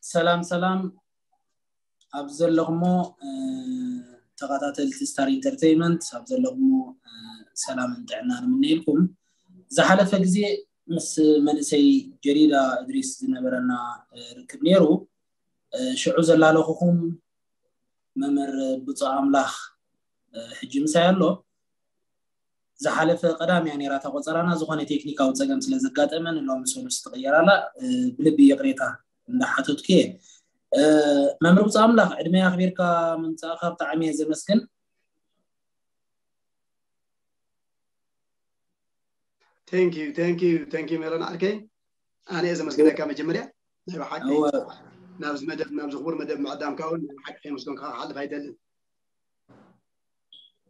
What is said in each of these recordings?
ሰላም ሰላም፣ ኣብ ዘለኹሞ ተኸታተልቲ ስታር ኢንተርቴይንመንት ኣብ ዘለኹሞ ሰላምን ጥዕናን ንምነየልኩም። ዝሓለፈ ግዜ ምስ መንእሰይ ጀዲዳ እድሪስ ዝነበረና ርክብ ነይሩ። ሽዑ ዘላለኹኹም መምህር ብፁዕ ኣምላኽ ሕጂ ምሳይ ኣሎ። ዝሓለፈ ቀዳም እያ ነይራ እታ ቆፀራና፣ ዝኾነ ቴክኒካዊ ፀገም ስለ ዘጋጠመ ንሎሚ ሰሉስ ትቕየር ኣላ። ብልቢ ይቕሬታ እንዳሓተትኩ እየ። መምህር ብፁዕ ኣምላኽ፣ ዕድመ ኣኽቢርካ ምምፃእካ ብጣዕሚ እየ ዘመስግን። Thank you, thank you, thank you ሜሮን ዓርከይ። ኣነ እየ ዘመስግነካ መጀመርያ ናይ ብሓቂ ናብዚ መደብ፣ ናብዚ ክቡር መደብ ምዕዳምካ እውን ናይ ብሓቂ ከየመስገንካ ክሓልፍ ኣይደልን።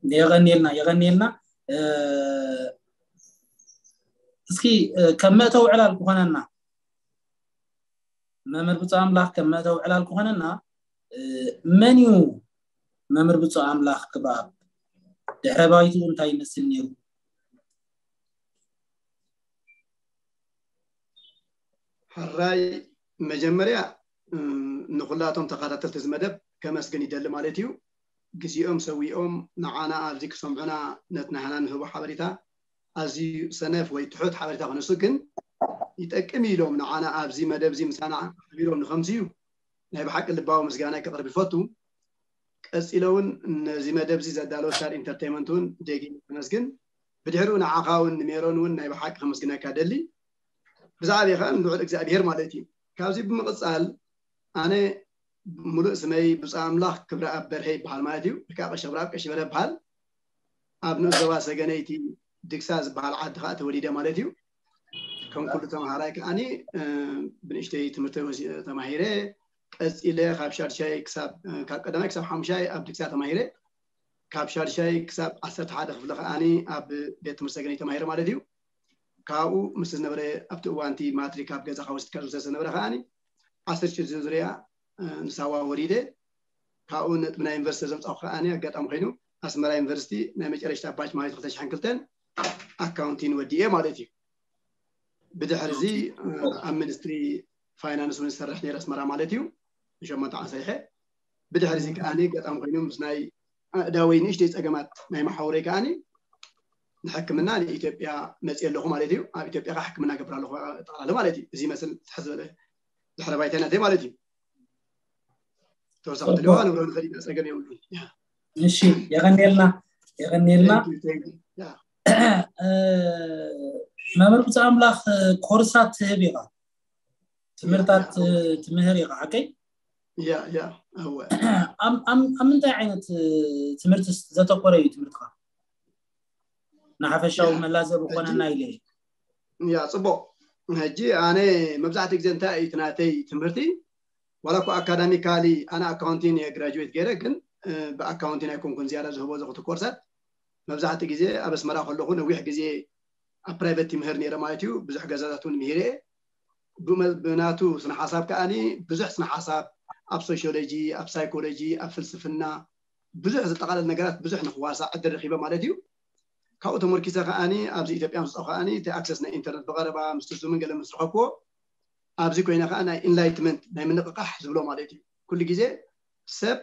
የቐንየልና፣ የቐንየልና። እስኪ ከም መእተዊ ዕላል ክኾነና፣ መምህር ብፁዕ ኣምላኽ ከም መእተዊ ዕላል ክኾነና፣ መን እዩ መምህር ብፁዕ ኣምላኽ ክብረኣብ? ድሕረ ባይትኡ እንታይ ይመስል ነይሩ? ሕራይ፣ መጀመርያ ንኩላቶም ተኸታተልቲ እዚ መደብ ከመስግን ይደሊ ማለት እዩ። ግዜኦም ሰዊኦም ንዓና ኣብዚ ክሰምዑና፣ ነቲ ናህና ንህቦ ሓበሬታ ኣዝዩ ሰነፍ ወይ ትሑት ሓበሬታ ክነሱ ግን ይጠቅም ኢሎም ንዓና ኣብዚ መደብ እዚ ምሳና ሓቢሮም ንኸምዝዩ ናይ ብሓቂ ልባዊ ምስጋና ከቕርብ ይፈቱ። ቀፂለ እውን ነዚ መደብ እዚ ዘዳለወ ስታር ኢንተርቴይንመንት እውን ደጊም ከመስግን፣ ብድሕሪኡ ንዓኻ እውን ንሜሮን እውን ናይ ብሓቂ ከመስግነካ ደሊ። ብዛዕባ ከዓ ንልዑል እግዚኣብሄር ማለት እዩ። ካብዚ ብምቕፃል ኣነ ሙሉእ ስመይ ብፁዕ ኣምላኽ ክብረኣብ በርሀ ይበሃል ማለት እዩ። ወይ ከዓ ቀሺ ክብረኣብ ቀሺ በርሀ ይበሃል። ኣብ ንኡስ ዞባ ሰገነይቲ ድግሳ ዝበሃል ዓዲ ከዓ ተወሊደ ማለት እዩ። ከም ኩሉ ተምሃራይ ከዓኒ ብንእሽተይ ትምህርቲ ተማሂረ፣ ቀፂለ ካብ ሻድሻይ ክሳብ ካብ ቀዳማይ ክሳብ ሓሙሻይ ኣብ ድግሳ ተማሂረ፣ ካብ ሻድሻይ ክሳብ ዓሰርተ ሓደ ክፍሊ ከዓኒ ኣብ ቤት ትምህርቲ ሰገነይቲ ተማሂረ ማለት እዩ። ካብኡ ምስ ዝነበረ ኣብቲ እዋንቲ ማትሪክ ኣብ ገዛ ካብ ወስድካ ዝውሰድ ዝነበረ ከዓኒ ዓሰርተ ሽዱሽተ ዙርያ ንሳዋ ወሪደ። ካብኡ ነጥቢ ናይ ዩኒቨርሲቲ ዘምፃኹ ከዓኒ ኣጋጣሚ ኮይኑ ኣስመራ ዩኒቨርሲቲ ናይ መጨረሽታ ባች ማለት ክልተ ሽሕን ክልተን ኣካውንቲን ወዲኤ ማለት እዩ። ብድሕሪ እዚ ኣብ ሚኒስትሪ ፋይናንስ እውን ዝሰርሕ ነይረ ኣስመራ ማለት እዩ። ንሸሞንተ ዓመት ሰሪሐ። ብድሕሪ እዚ ከዓኒ ኣጋጣሚ ኮይኑ ምስ ናይ ኣእዳወይ ንእሽተይ ፀገማት ናይ መሓውረይ ከዓኒ ንሕክምና ንኢትዮጵያ መፅየ ኣለኹ ማለት እዩ። ኣብ ኢትዮጵያ ከዓ ሕክምና ገብር ኣለኹ ጠቕላሊ ማለት እዩ። እዚ ይመስል ትሕት ዝበለ ድሕረ ባይታ ናተይ ማለት እዩ። ተወሳኺ ትልዋ ንብሮ ንኽእል ኢና፣ ፀገም የብሉን። እሺ፣ የቐንየልና፣ የቐንየልና። መምህር ብፁዕ ኣምላኽ፣ ኮርሳት ትህብ ኢኻ፣ ትምህርታት ትምህር ኢኻ፣ ሓቀይ? ያ ያ እወ። ኣብ ምንታይ ዓይነት ትምህርቲ ዘተኮረ እዩ ትምህርትኻ? ንሓፈሻዊ መላዘብ ኮነና ኢለ። ያ፣ ፅቡቕ። ሕጂ ኣነ መብዛሕትኡ ግዜ እንታይ እዩ እቲ ናተይ ትምህርቲ፣ ዋላ እኮ ኣካዳሚካሊ ኣነ ኣካውንቲን እየ ግራጁዌት ገይረ፣ ግን ብኣካውንቲን ኣይኮንኩን ዝያዳ ዝህቦ ዘኽቲ ኮርሳት። መብዛሕትኡ ግዜ ኣብ ኣስመራ ከለኹ ነዊሕ ግዜ ኣብ ፕራይቨት ይምህር ነይረ ማለት እዩ። ብዙሕ ገዛታት እውን ምሂረ እየ። ብናቱ ስነ ሓሳብ ከዓኒ ብዙሕ ስነ ሓሳብ ኣብ ሶሽዮሎጂ፣ ኣብ ሳይኮሎጂ፣ ኣብ ፍልስፍና ብዙሕ ዝጠቓለል ነገራት ብዙሕ ንክዋሳእ ዕድል ረኺበ ማለት እዩ። ካብኡ ተመርኪሰ ከዓኒ ኣብዚ ኢትዮጵያ ምስ ከዓኒ እቲ ኣክሰስ ናይ ኢንተርነት ብቐረባ ምስ ትርዙምን ገለ ምስ ረኸብኩዎ ኣብዚ ኮይነ ከዓ ናይ ኢንላይትመንት ናይ ምንቕቃሕ ዝብሎ ማለት እዩ። ኩሉ ግዜ ሰብ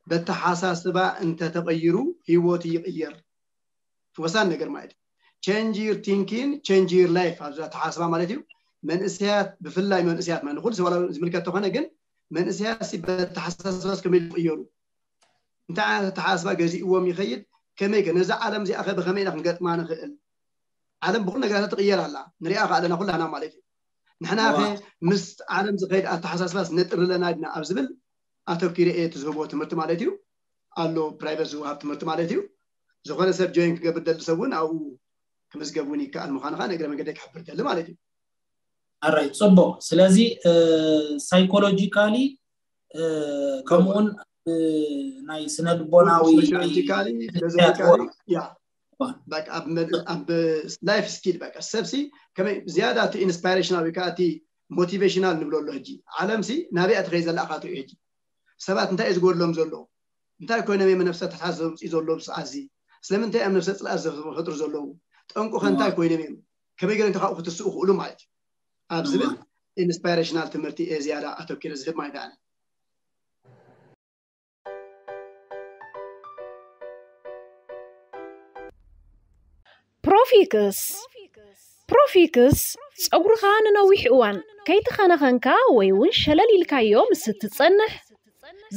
በተሓሳስባ እንተተቐይሩ ህይወቱ ይቕየር። ወሳኒ ነገር ማለት እዩ። Change your thinking, change your life ኣብዚ ኣተሓሳስባ ማለት እዩ። መንእሰያት ብፍላይ መንእሰያት ማለት ንኩሉ ሰብ ዝምልከት ተኾነ ግን መንእሰያት በተሓሳስባ ከመይ ይቕየሩ፣ እንታይ ዓይነት ኣተሓሳስባ ገዚእዎም ይኸይድ፣ ከመይ ከ ነዛ ዓለም እዚኣ ከ ብኸመይ ኢና ክንገጥማ ንኽእል? ዓለም ብኩሉ ነገራት ትቕየር ኣላ፣ ንሪኣ ከ ኣለና ኩላና ማለት እዩ። ንሕና ከ ምስ ዓለም ዝኸይድ ኣተሓሳስባስ ነጥሪ ኣለና ድና ኣብ ዝብል ኣተኪረ እየ እቲ ዝህቦ ትምህርቲ ማለት እዩ። ኣሎ ፕራይቨት ዝወሃብ ትምህርቲ ማለት እዩ። ዝኾነ ሰብ ጆይን ክገብር ደሊ ሰብ እውን ኣብኡ ክምዝገብ እውን ይከኣል ምዃኑ ከዓ ንእግረ መንገደይ ክሕብር ደሊ ማለት እዩ። ኣራይ፣ ፅቡቕ። ስለዚ ሳይኮሎጂካሊ ከምኡውን ናይ ስነ ልቦናዊ ያ በቃ ኣብ ላይፍ ስኪል በቃ ሰብሲ ከመይ ዝያዳ እቲ ኢንስፓይሬሽናል ወይ ከዓ እቲ ሞቲቬሽናል ንብሎ ኣሎ። ሕጂ ዓለምሲ ናበይ ትኸይ ዘላ ኣኻትኡ ሕጂ ሰባት እንታይ እዩ ዝጎድሎም ዘሎ? እንታይ ኮይኖም እዮም ነፍሰ ተሓት ዘምፅኡ ዘለዉ ብሰዓት እዚ? ስለምንታይ እዮም ነፍሰ ፅልኣት ዝፈጥሩ ዘለዉ? ጠንቁኸ እንታይ ኮይኖም እዮም? ከመይ ገይሮም ካብኡ ክትስኡ ክእሉ ማለት እዩ ኣብ ዝብል ኢንስፓይሬሽናል ትምህርቲ እየ ዝያዳ ኣተኪረ ዝህብ ማለት ኣነ። ፕሮፊክስ ፕሮፊክስ ጸጉርኻ ንነዊሕ እዋን ከይተኸናኸንካ ወይ እውን ሸለል ኢልካዮ ምስ እትጸንሕ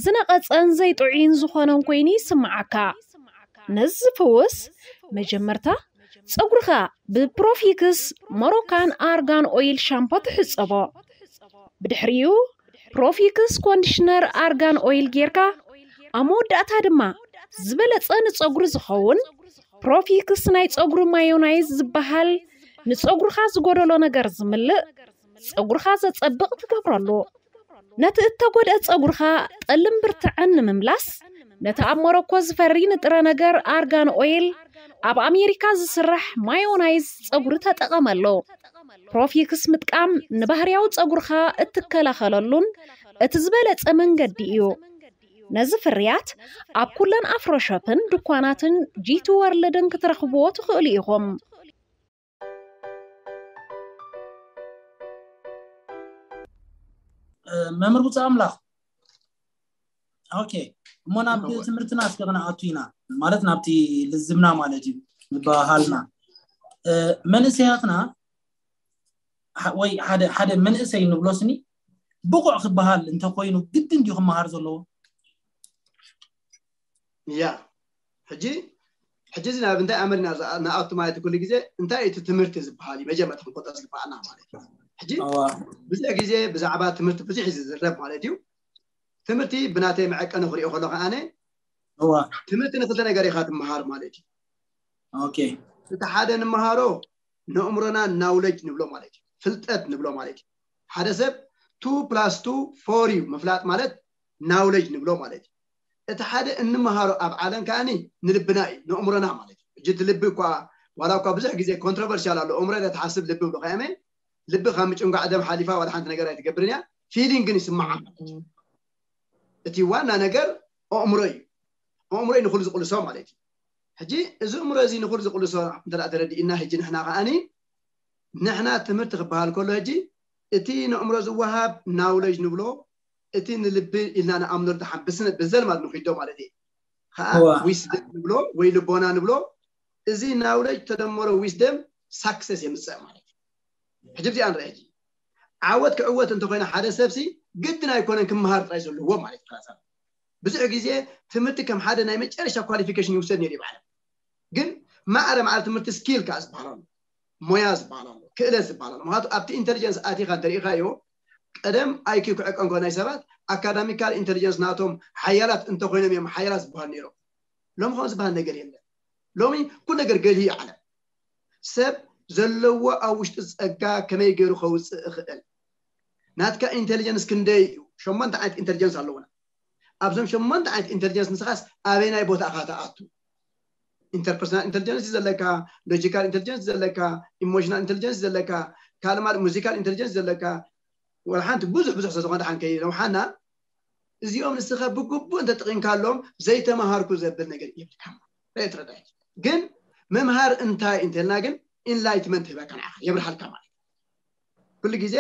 ዝነቐጸን ዘይጥዑይን ዝኾነን ኮይኑ ይስምዓካ። ነዚ ዝፍውስ መጀመርታ ጸጉርኻ ብፕሮፊክስ ሞሮካን ኣርጋን ኦይል ሻምፖ ትሕጸቦ። ብድሕሪኡ ፕሮፊክስ ኮንዲሽነር ኣርጋን ኦይል ጌርካ ኣብ መወዳእታ ድማ ዝበለጸ ንጸጉሪ ዝኸውን ፕሮፊክስ ናይ ጸጉሪ ማዮናይዝ ዝበሃል ንጸጉርኻ ዝጎደሎ ነገር ዝምልእ ጸጉርኻ ዘጸብቕ ትገብረሉ። ነቲ እተጎድአ ጸጉርኻ ጠልን ብርትዐን ንምምላስ ነቲ ኣብ ሞሮኮ ዝፈሪ ንጥረ ነገር ኣርጋን ኦይል ኣብ ኣሜሪካ ዝስራሕ ማዮናይዝ ጸጉሪ ተጠቐመሉ። ፕሮፊክስ ምጥቃም ንባህርያዊ ጸጉርኻ እትከላኸለሉን እቲ ዝበለጸ መንገዲ እዩ። ነዚ ፍርያት ኣብ ኩለን ኣፍሮሾፕን ድኳናትን ጂቲ ወርልድን ክትረኽብዎ ትኽእሉ ኢኹም። መምህር ብፁዕ ኣምላኽ፣ ኦኬ፣ እሞ ናብ ትምህርትና እስከ ክንኣቱ ኢና፣ ማለት ናብቲ ልዝብና ማለት እዩ። ምባሃልና መንእሰያትና ወይ ሓደ ሓደ መንእሰይ ንብሎ ስኒ ብቑዕ ክበሃል እንተኮይኑ ግድን ድዩ ክመሃር ዘለዎ? ያ ሕጂ ሕጂ እዚ ናብ እንታይ ኣመል ኢና ንኣቱ ማለት ኩሉ ግዜ እንታይ እቲ ትምህርቲ ዝበሃል እዩ መጀመርታ ክንቆጠር ዝግበኣና ማለት እዩ። ሕጂ ብዙሕ ግዜ ብዛዕባ ትምህርቲ ብዙሕ እዩ ዝዝረብ ማለት እዩ። ትምህርቲ ብናተይ መዐቀኒ ክሪኦ ከሎ ከዓነ ትምህርቲ ንክልተ ነገር ኢካ ትመሃር ማለት እዩ። ኦኬ እቲ ሓደ ንመሃሮ ንእምሮና ናውለጅ ንብሎ ማለት እዩ፣ ፍልጠት ንብሎ ማለት እዩ። ሓደ ሰብ ቱ ፕላስ ቱ ፎር እዩ ምፍላጥ ማለት ናውለጅ ንብሎ ማለት እዩ። እቲ ሓደ እንመሃሮ ኣብ ዓለም ከዓኒ ንልብና እዩ፣ ንእምሮና ማለት እዩ። ሕጂ እቲ ልቢ እኳ ዋላ እኳ ብዙሕ ግዜ ኮንትሮቨርሽል ኣሎ፣ እምሮ ኢለ ትሓስብ ልቢ ብሎ ከያመ ልቢ ካብ ምጭንጓዕ ደም ሓሊፋ ዋላ ሓንቲ ነገር ኣይትገብርን እያ፣ ፊሊንግ ግን ይስምዓ ማለት እዩ። እቲ ዋና ነገር ኣእምሮ እዩ። ኣእምሮ እዩ ንኩሉ ዝቅልሶ ማለት እዩ። ሕጂ እዚ እምሮ እዚ ንኩሉ ዝቅልሶ እንተ ተረዲእና ሕጂ ንሕና ከዓኒ ንሕና ትምህርቲ ክበሃል ከሎ ሕጂ እቲ ንእምሮ ዝወሃብ ናውለጅ ንብሎ እቲ ንልቢ ኢልና ንኣምኖ ደሓን ብስነ ብዘልማድ ንኪዶ ማለት እዩ። ከዓ ዊስደም ንብሎ ወይ ልቦና ንብሎ እዚ ናውለጅ ተደመሮ ዊስደም ሳክሰስ የምፅእ ማለት እዩ። ሕጂ ብዚኣ ንርአ ሕጂ ዓወት ክዕወት እንተኮይነ ሓደ ሰብሲ ግድን ኣይኮነን ክመሃር ጥራይ ዘለዎ ማለት እዩ። ብዙሕ ግዜ ትምህርቲ ከም ሓደ ናይ መጨረሻ ኳሊፊኬሽን ይውሰድ ነይሩ ይባሃል። ግን ማዕረ ማዕረ ትምህርቲ ስኪል ከዓ ዝበሃል ኣሎ፣ ሞያ ዝበሃል ኣሎ፣ ክእለት ዝበሃል ኣሎ። ምክንያቱ ኣብቲ ኢንቴሊጀንስ ኣቲካ እንተሪኢካዮ ቀደም ኣይኪ ክዕቀን ከሎ ናይ ሰባት ኣካዳሚካል ኢንቴሊጀንስ ናቶም ሓያላት እንተኮይኖም እዮም ሓያላት ዝበሃል ነይሮም። ሎሚ ከምኡ ዝበሃል ነገር የለን። ሎሚ ኩሉ ነገር ገልሂ እዩ ዓለም። ሰብ ዘለዎ ኣብ ውሽጡ ጸጋ ከመይ ገይሩ ከውፅእ እኽእል? ናትካ ኢንቴሊጀንስ ክንደይ እዩ? ሸሞንተ ዓይነት ኢንቴሊጀንስ ኣለውና። ኣብዞም ሸሞንተ ዓይነት ኢንቴሊጀንስ ንስኻስ ኣበይናይ ቦታ ኢኻ ትኣቱ? ኢንተርፐርሰናል ኢንቴሊጀንስ እዩ ዘለካ፣ ሎጂካል ኢንቴሊጀንስ እዩ ዘለካ፣ ኢሞሽናል ኢንቴሊጀንስ እዩ ዘለካ፣ ካልእ ማለት ሙዚካል ኢንቴሊጀንስ እዩ ዘለካ፣ ወላ ሓንቲ ብዙሕ ብዙሕ ስለዝኾነ ሓንከይ ነውሓና እዚኦም ንስኻ ብግቡእ እንተጥቂምካሎም ዘይተማሃርኩ ዘብል ነገር የብልካ። ርአ ትረዳእ። ግን ምምሃር እንታይ እንተልና ግን ኢንላይትመንት ህበካ ንዓኻ የብርሃልካ ማለት እዩ። ኩሉ ግዜ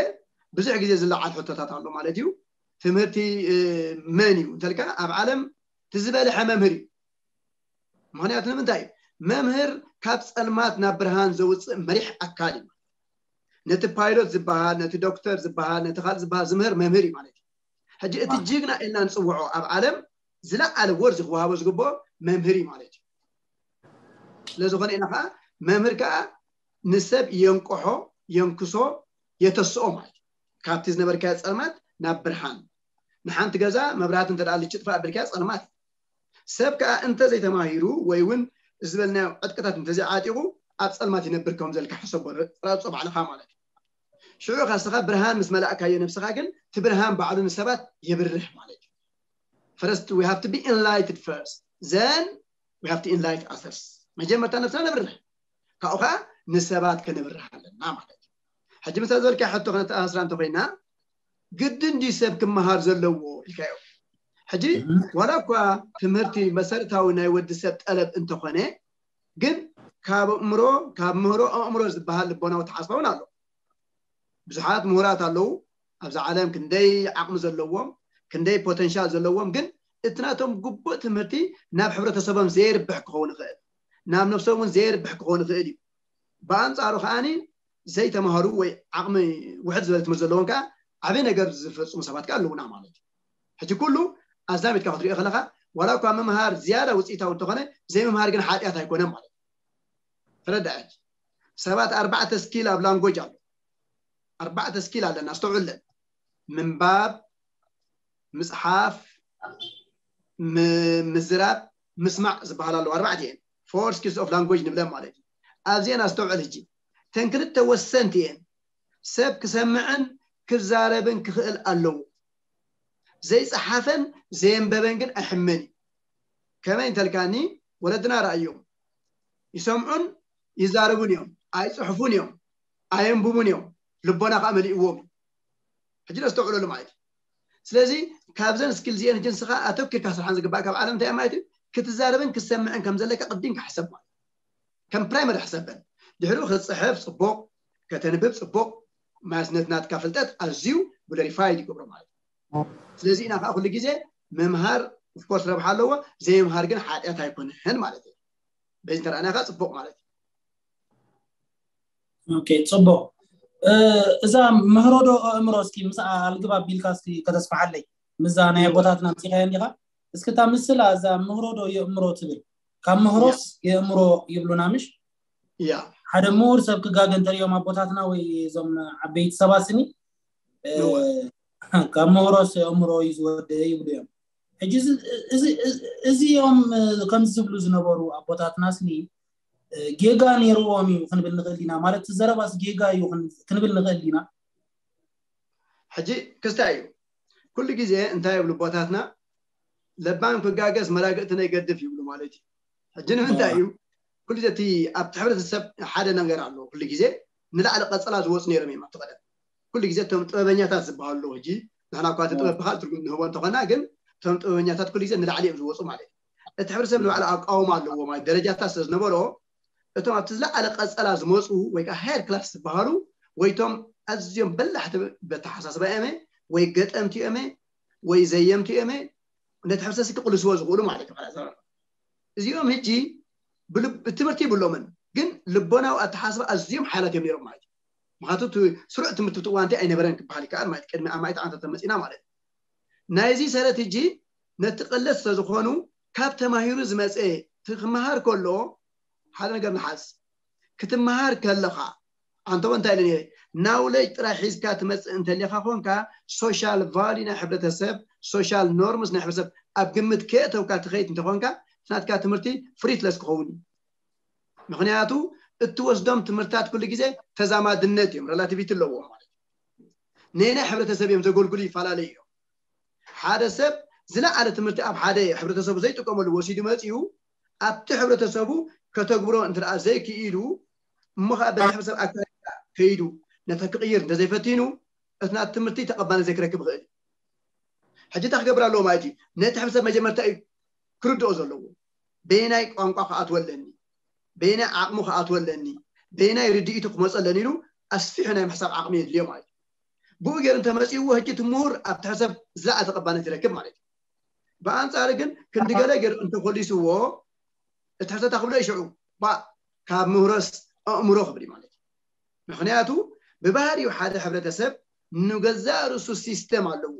ብዙሕ ግዜ ዝለዓል ሕቶታት ኣሎ ማለት እዩ። ትምህርቲ መን እዩ እንተልካ ኣብ ዓለም ትዝበልሐ መምህር እዩ። ምክንያቱ ንምንታይ መምህር ካብ ፀልማት ናብ ብርሃን ዘውፅእ መሪሕ ኣካል እዩ። ነቲ ፓይሎት ዝበሃል ነቲ ዶክተር ዝበሃል ነቲ ካልእ ዝበሃል ዝምህር መምህር እዩ ማለት እዩ። ሕጂ እቲ ጅግና ኢልና ንፅውዖ ኣብ ዓለም ዝለዓለ ወርዚ ክወሃቦ ዝግብኦ መምህር እዩ ማለት እዩ። ስለዝኾነ ኢና ከዓ መምህር ከዓ ንሰብ የንቅሖ፣ የንክሶ፣ የተስኦ ማለት እዩ። ካብቲ ዝነበርካዮ ፀልማት ናብ ብርሃን። ንሓንቲ ገዛ መብራህቲ እንተ ልጭ ጥፋእ ኣቢልካዮ ፀልማት እዩ። ሰብ ከዓ እንተዘይተማሂሩ ወይ እውን ዝበልናዮ ዕጥቅታት እንተዘይዓጢቑ ኣብ ፀልማት ይነብር ከም ዘልካ ሕሰቦ ረፆ ባዕልኻ ማለት እዩ። ሽዑ ከስኻ ብርሃን ምስ መላእካዮ ነብስኻ ግን እቲ ብርሃን ባዕሉ ንሰባት የብርህ ማለት እዩ። First we have to be enlightened first, then we have to enlighten others። መጀመርታ ነብስና ነብርህ፣ ካብኡ ከዓ ንሰባት ከነብርህ ኣለና ማለት እዩ። ሕጂ ምሳ ዝበልካ ሕቶ ክነተኣሳስራ እንተኮይና ግድን ድዩ ሰብ ክመሃር ዘለዎ ኢልካዮ? ሕጂ ዋላ እኳ ትምህርቲ መሰረታዊ ናይ ወዲ ሰብ ጠለብ እንተኮነ ግን ካብ ኣእምሮ ካብ ምህሮ ኣእምሮ ዝበሃል ልቦናዊ ተሓስባ እውን ኣሎ። ብዙሓት ምሁራት ኣለዉ፣ ኣብዛ ዓለም ክንደይ ዓቕሚ ዘለዎም ክንደይ ፖተንሻል ዘለዎም ግን እቲ ናቶም ግቡእ ትምህርቲ ናብ ሕብረተሰቦም ዘይርብሕ ክኸውን ይኽእል ናብ ነብሶም እውን ዘይርብሕ ክኸውን ይኽእል እዩ ብኣንፃሩ ከዓኒ ዘይተማሃሩ ወይ ዓቕሚ ውሕድ ዝበለ ትምህርቲ ዘለዎም ከዓ ዓበይ ነገር ዝፈፅሙ ሰባት ከዓ ኣለውና ማለት እዩ ሕጂ ኩሉ ኣዛሚትካ ክትሪኦ ከለካ ዋላ እኳ ምምሃር ዝያዳ ውፅኢታዊ እንተኾነ ዘይምምሃር ግን ሓጢኣት ኣይኮነን ማለት እዩ ተረዳእ ሰባት ኣርባዕተ ስኪል ኣብ ላንጎጅ ኣሎ ኣርባዕተ ስኪል ኣለና ኣስተውዕለን ምንባብ ምፅሓፍ ምዝራብ ምስማዕ ዝበሃል ኣለዉ ኣርባዕተ እየን four skills of language ንብለን ማለት እዩ ኣብዚአን ኣስተውዕል ህጂ ተን ክልተ ወሰንቲ እየን ሰብ ክሰምዕን ክዛረብን ክኽእል ኣለዎ ዘይፀሓፈን ዘየንበበን ግን ኣይሕመን እዩ ከመይ እንተልካኒ ወለድና ረኣዮም ይሰምዑን ይዛረቡን እዮም ኣይፅሕፉን እዮም ኣየንብቡን እዮም ልቦና ከዓ መሊእዎም ሕጂ ነስተውዕለሉ ማለት እዩ ስለዚ ካብዘን ስኪል ዚአን ሕጂ ንስኻ ኣተኪርካ ስርሓን ዝግባእ ካብ ዓለም እንታይ ማለት እዩ ክትዛረብን ክሰምዕን ከም ዘለካ ቅዲም ክሕሰብ ማለት ከም ፕራይመሪ ሕሰበን ድሕሪኡ ክትፅሕፍ ፅቡቕ ከተንብብ ፅቡቕ ማስነት ናትካ ፍልጠት ኣዝዩ ግሎሪፋይድ ይገብሮ ማለት እዩ ስለዚ ኢና ከዓ ኩሉ ግዜ ምምሃር ኦፍኮርስ ረብሓ ኣለዎ ዘይምሃር ግን ሓጢኣት ኣይኮነን ማለት እዩ በዚ ተረኣና ከዓ ፅቡቕ ማለት እዩ ኦኬ ፅቡቕ እዛ ምህሮዶ ኣእምሮ እስኪ ምስ ኣልግብ ኣቢልካ እስኪ ከተስፋሓለይ ምዛ ናይ ኣቦታትና ምፅኻዮ እንዲኻ እስኪ እታ ምስላ እዛ ምህሮዶ የእምሮ ትብል ካብ ምህሮስ የእምሮ ይብሉና ምሽ ያ ሓደ ምሁር ሰብ ክጋገ እንተሪኦም ኣቦታትና ወይ እዞም ዓበይቲ ሰባት ስኒ ካብ ምህሮስ የእምሮ እዩ ዝወደ ይብሉ እዮም ሕጂ እዚኦም ከምዚ ዝብሉ ዝነበሩ ኣቦታትና ስኒ ጌጋ ነይርዎም እዩ ክንብል ንኽእል ኢና ማለት ዘረባስ ጌጋ እዩ ክንብል ንኽእል ኢና ሕጂ ክስታይ እዩ ኩሉ ግዜ እንታይ ይብሉ ኣቦታትና ለባም ክጋገስ መላግእቲ ነይገድፍ ይብሉ ማለት እዩ ሕጂ ንምንታይ እዩ ኩሉ ግዜ እቲ ኣብቲ ሕብረተሰብ ሓደ ነገር ኣሎ ኩሉ ግዜ ንላዕሊ ቀፀላ ዝወፁ ነይሮም እዮም ኣብቲ ቀደም ኩሉ ግዜ እቶም ጥበበኛታት ዝበሃሉ ኣለዉ ሕጂ ንሕና እኳ እቲ ጥበብ ብካል ትርጉም ንህቦ እንተኾና ግን እቶም ጥበበኛታት ኩሉ ግዜ ንላዕሊ እዮም ዝወፁ ማለት እዩ እቲ ሕብረተሰብ ንባዕሉ ኣቃውማ ኣለዎ ማለት ደረጃታት ስለ ዝነበሮ እቶም ኣብቲ ዝለዓለ ቀፀላ ዝመፁ ወይ ከዓ ሃየር ክላስ ዝበሃሉ ወይቶም ኣዝዮም በላሕቲ በተሓሳስባ እዮመ ወይ ገጠምቲ እዮመ ወይ ዘየምቲ እዮመ ነቲ ሕብረተሰብ ክቅልስዎ ዝኽእሉ ማለት እዩ እዚኦም ሕጂ ትምህርቲ ይብሎምን ግን ልቦናዊ ኣተሓስባ ኣዝዮም ሓያላት እዮም ነይሮም ማለት እዩ ምክንያቱ ስሩዕ ትምህርቲ ትዋንቲ ኣይነበረን ክበሃል ይከኣል ማለት ቅድሚ ኣማኢት ዓመታት ተመፂና ማለት እዩ ናይዚ ሰረት ሕጂ ነቲ ቅለት ስለዝኾኑ ካብ ተማሂሩ ዝመፀ ክመሃር ከሎ ሓደ ነገር ንሓዝ ክትመሃር ከለኻ ኣንተወ እንታይ ኢለ ናውለጅ ጥራይ ሒዝካ ትመፅእ እንተሊኻ ኮንካ ሶሻል ቫሊ ናይ ሕብረተሰብ ሶሻል ኖርምስ ናይ ሕብረተሰብ ኣብ ግምት ከየእተውካ ትኸይድ እንተኾንካ ናትካ ትምህርቲ ፍሪትለስ ክኸውን እዩ ምክንያቱ እትወስዶም ትምህርታት ኩሉ ግዜ ተዛማድነት እዮም ሬላቲቪቲ ኣለዎም ማለት ነናይ ሕብረተሰብ እዮም ዘገልግሉ ይፈላለዩ እዮም ሓደ ሰብ ዝለዓለ ትምህርቲ ኣብ ሓደ ሕብረተሰቡ ዘይጥቀመሉ ወሲዱ መፂኡ ኣብቲ ሕብረተሰቡ ከተግብሮ እንትኣ ዘይክኢሉ እሞ ከዓ በቲ ሕብረተሰብ ኣካባቢ ከይዱ ነተ ክቅይር እንተዘይፈቲኑ እቲ ናት ትምህርቲ ተቐባልነት ዘይክረክብ ይኽእል ሕጂ እንታይ ክገብር ኣለዎ ማለት እዩ ነቲ ሕብረተሰብ መጀመርታ እዩ ክርድኦ ዘለዎ በየናይ ቋንቋ ክኣትወለኒ በየናይ ዓቕሙ ክኣትወለኒ በየናይ ርድኢቱ ክመፀለኒ ኢሉ ኣስፊሑ ናይ ምሕሳብ ዓቕሚ የድልዮ ማለት እዩ ብኡ ገይሩ እንተመፂእዎ ሕጂ እቲ ምሁር ኣብቲ ሕብረተሰብ ዝለዓለ ተቐባልነት ይረክብ ማለት እዩ ብኣንፃር ግን ክንዲ ገለ ገይሩ እንተኮሊስዎ እቲ ሕተታ ክብሎ ይሽዑ ካብ ምህሮስ ኣእምሮ ክብል ማለት እዩ ምክንያቱ ብባህሪኡ ሓደ ሕብረተሰብ ንገዛእ ርእሱ ሲስተም ኣለዎ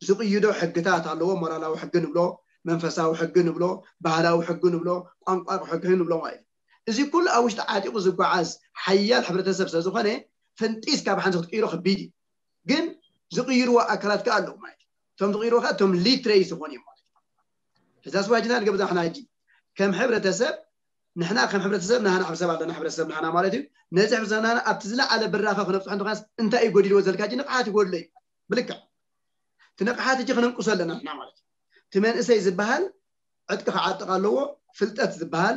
ዝቅይዶ ሕግታት ኣለዎ ሞራላዊ ሕጊ ንብሎ መንፈሳዊ ሕጊ ንብሎ ባህላዊ ሕጊ ንብሎ ቋንቋ ሕጊ ንብሎ ማለት እዩ እዚ ኩሉ ኣብ ውሽጢ ዓጢቁ ዝጓዓዝ ሓያል ሕብረተሰብ ስለዝኾነ ፈንጢስ ካብ ሓንቲ ክትቅይሮ ከቢድ እዩ ግን ዝቅይርዎ ኣካላት ከዓ ኣለዉ ማለት እዩ እቶም ዝቅይርዎ ከዓ እቶም ሊትሬ ዝኾኑ እዮም ማለት እዩ እዛ ስዋጅና ንገብዛ ሕና ሕጂ ከም ሕብረተሰብ ንሕና ከም ሕብረተሰብ ናህና ሕብረተሰብ ኣለና ሕብረተሰብ ናህና ማለት እዩ ነዚ ሕብረተሰብ ናህና ኣብቲ ዝለዓለ ብራኸ ክነብፅሖ እንተኾነስ እንታይ እዩ ጎዲልዎ ዘልካ ሕጂ ንቕሓት ይጎድሎ እዩ ብልክዕ እቲ ንቕሓት ሕጂ ክነንቅሶ ኣለና ንሕና ማለት እዩ እቲ መንእሰይ ዝበሃል ዕጥቂ ክዓጥቕ ኣለዎ ፍልጠት ዝበሃል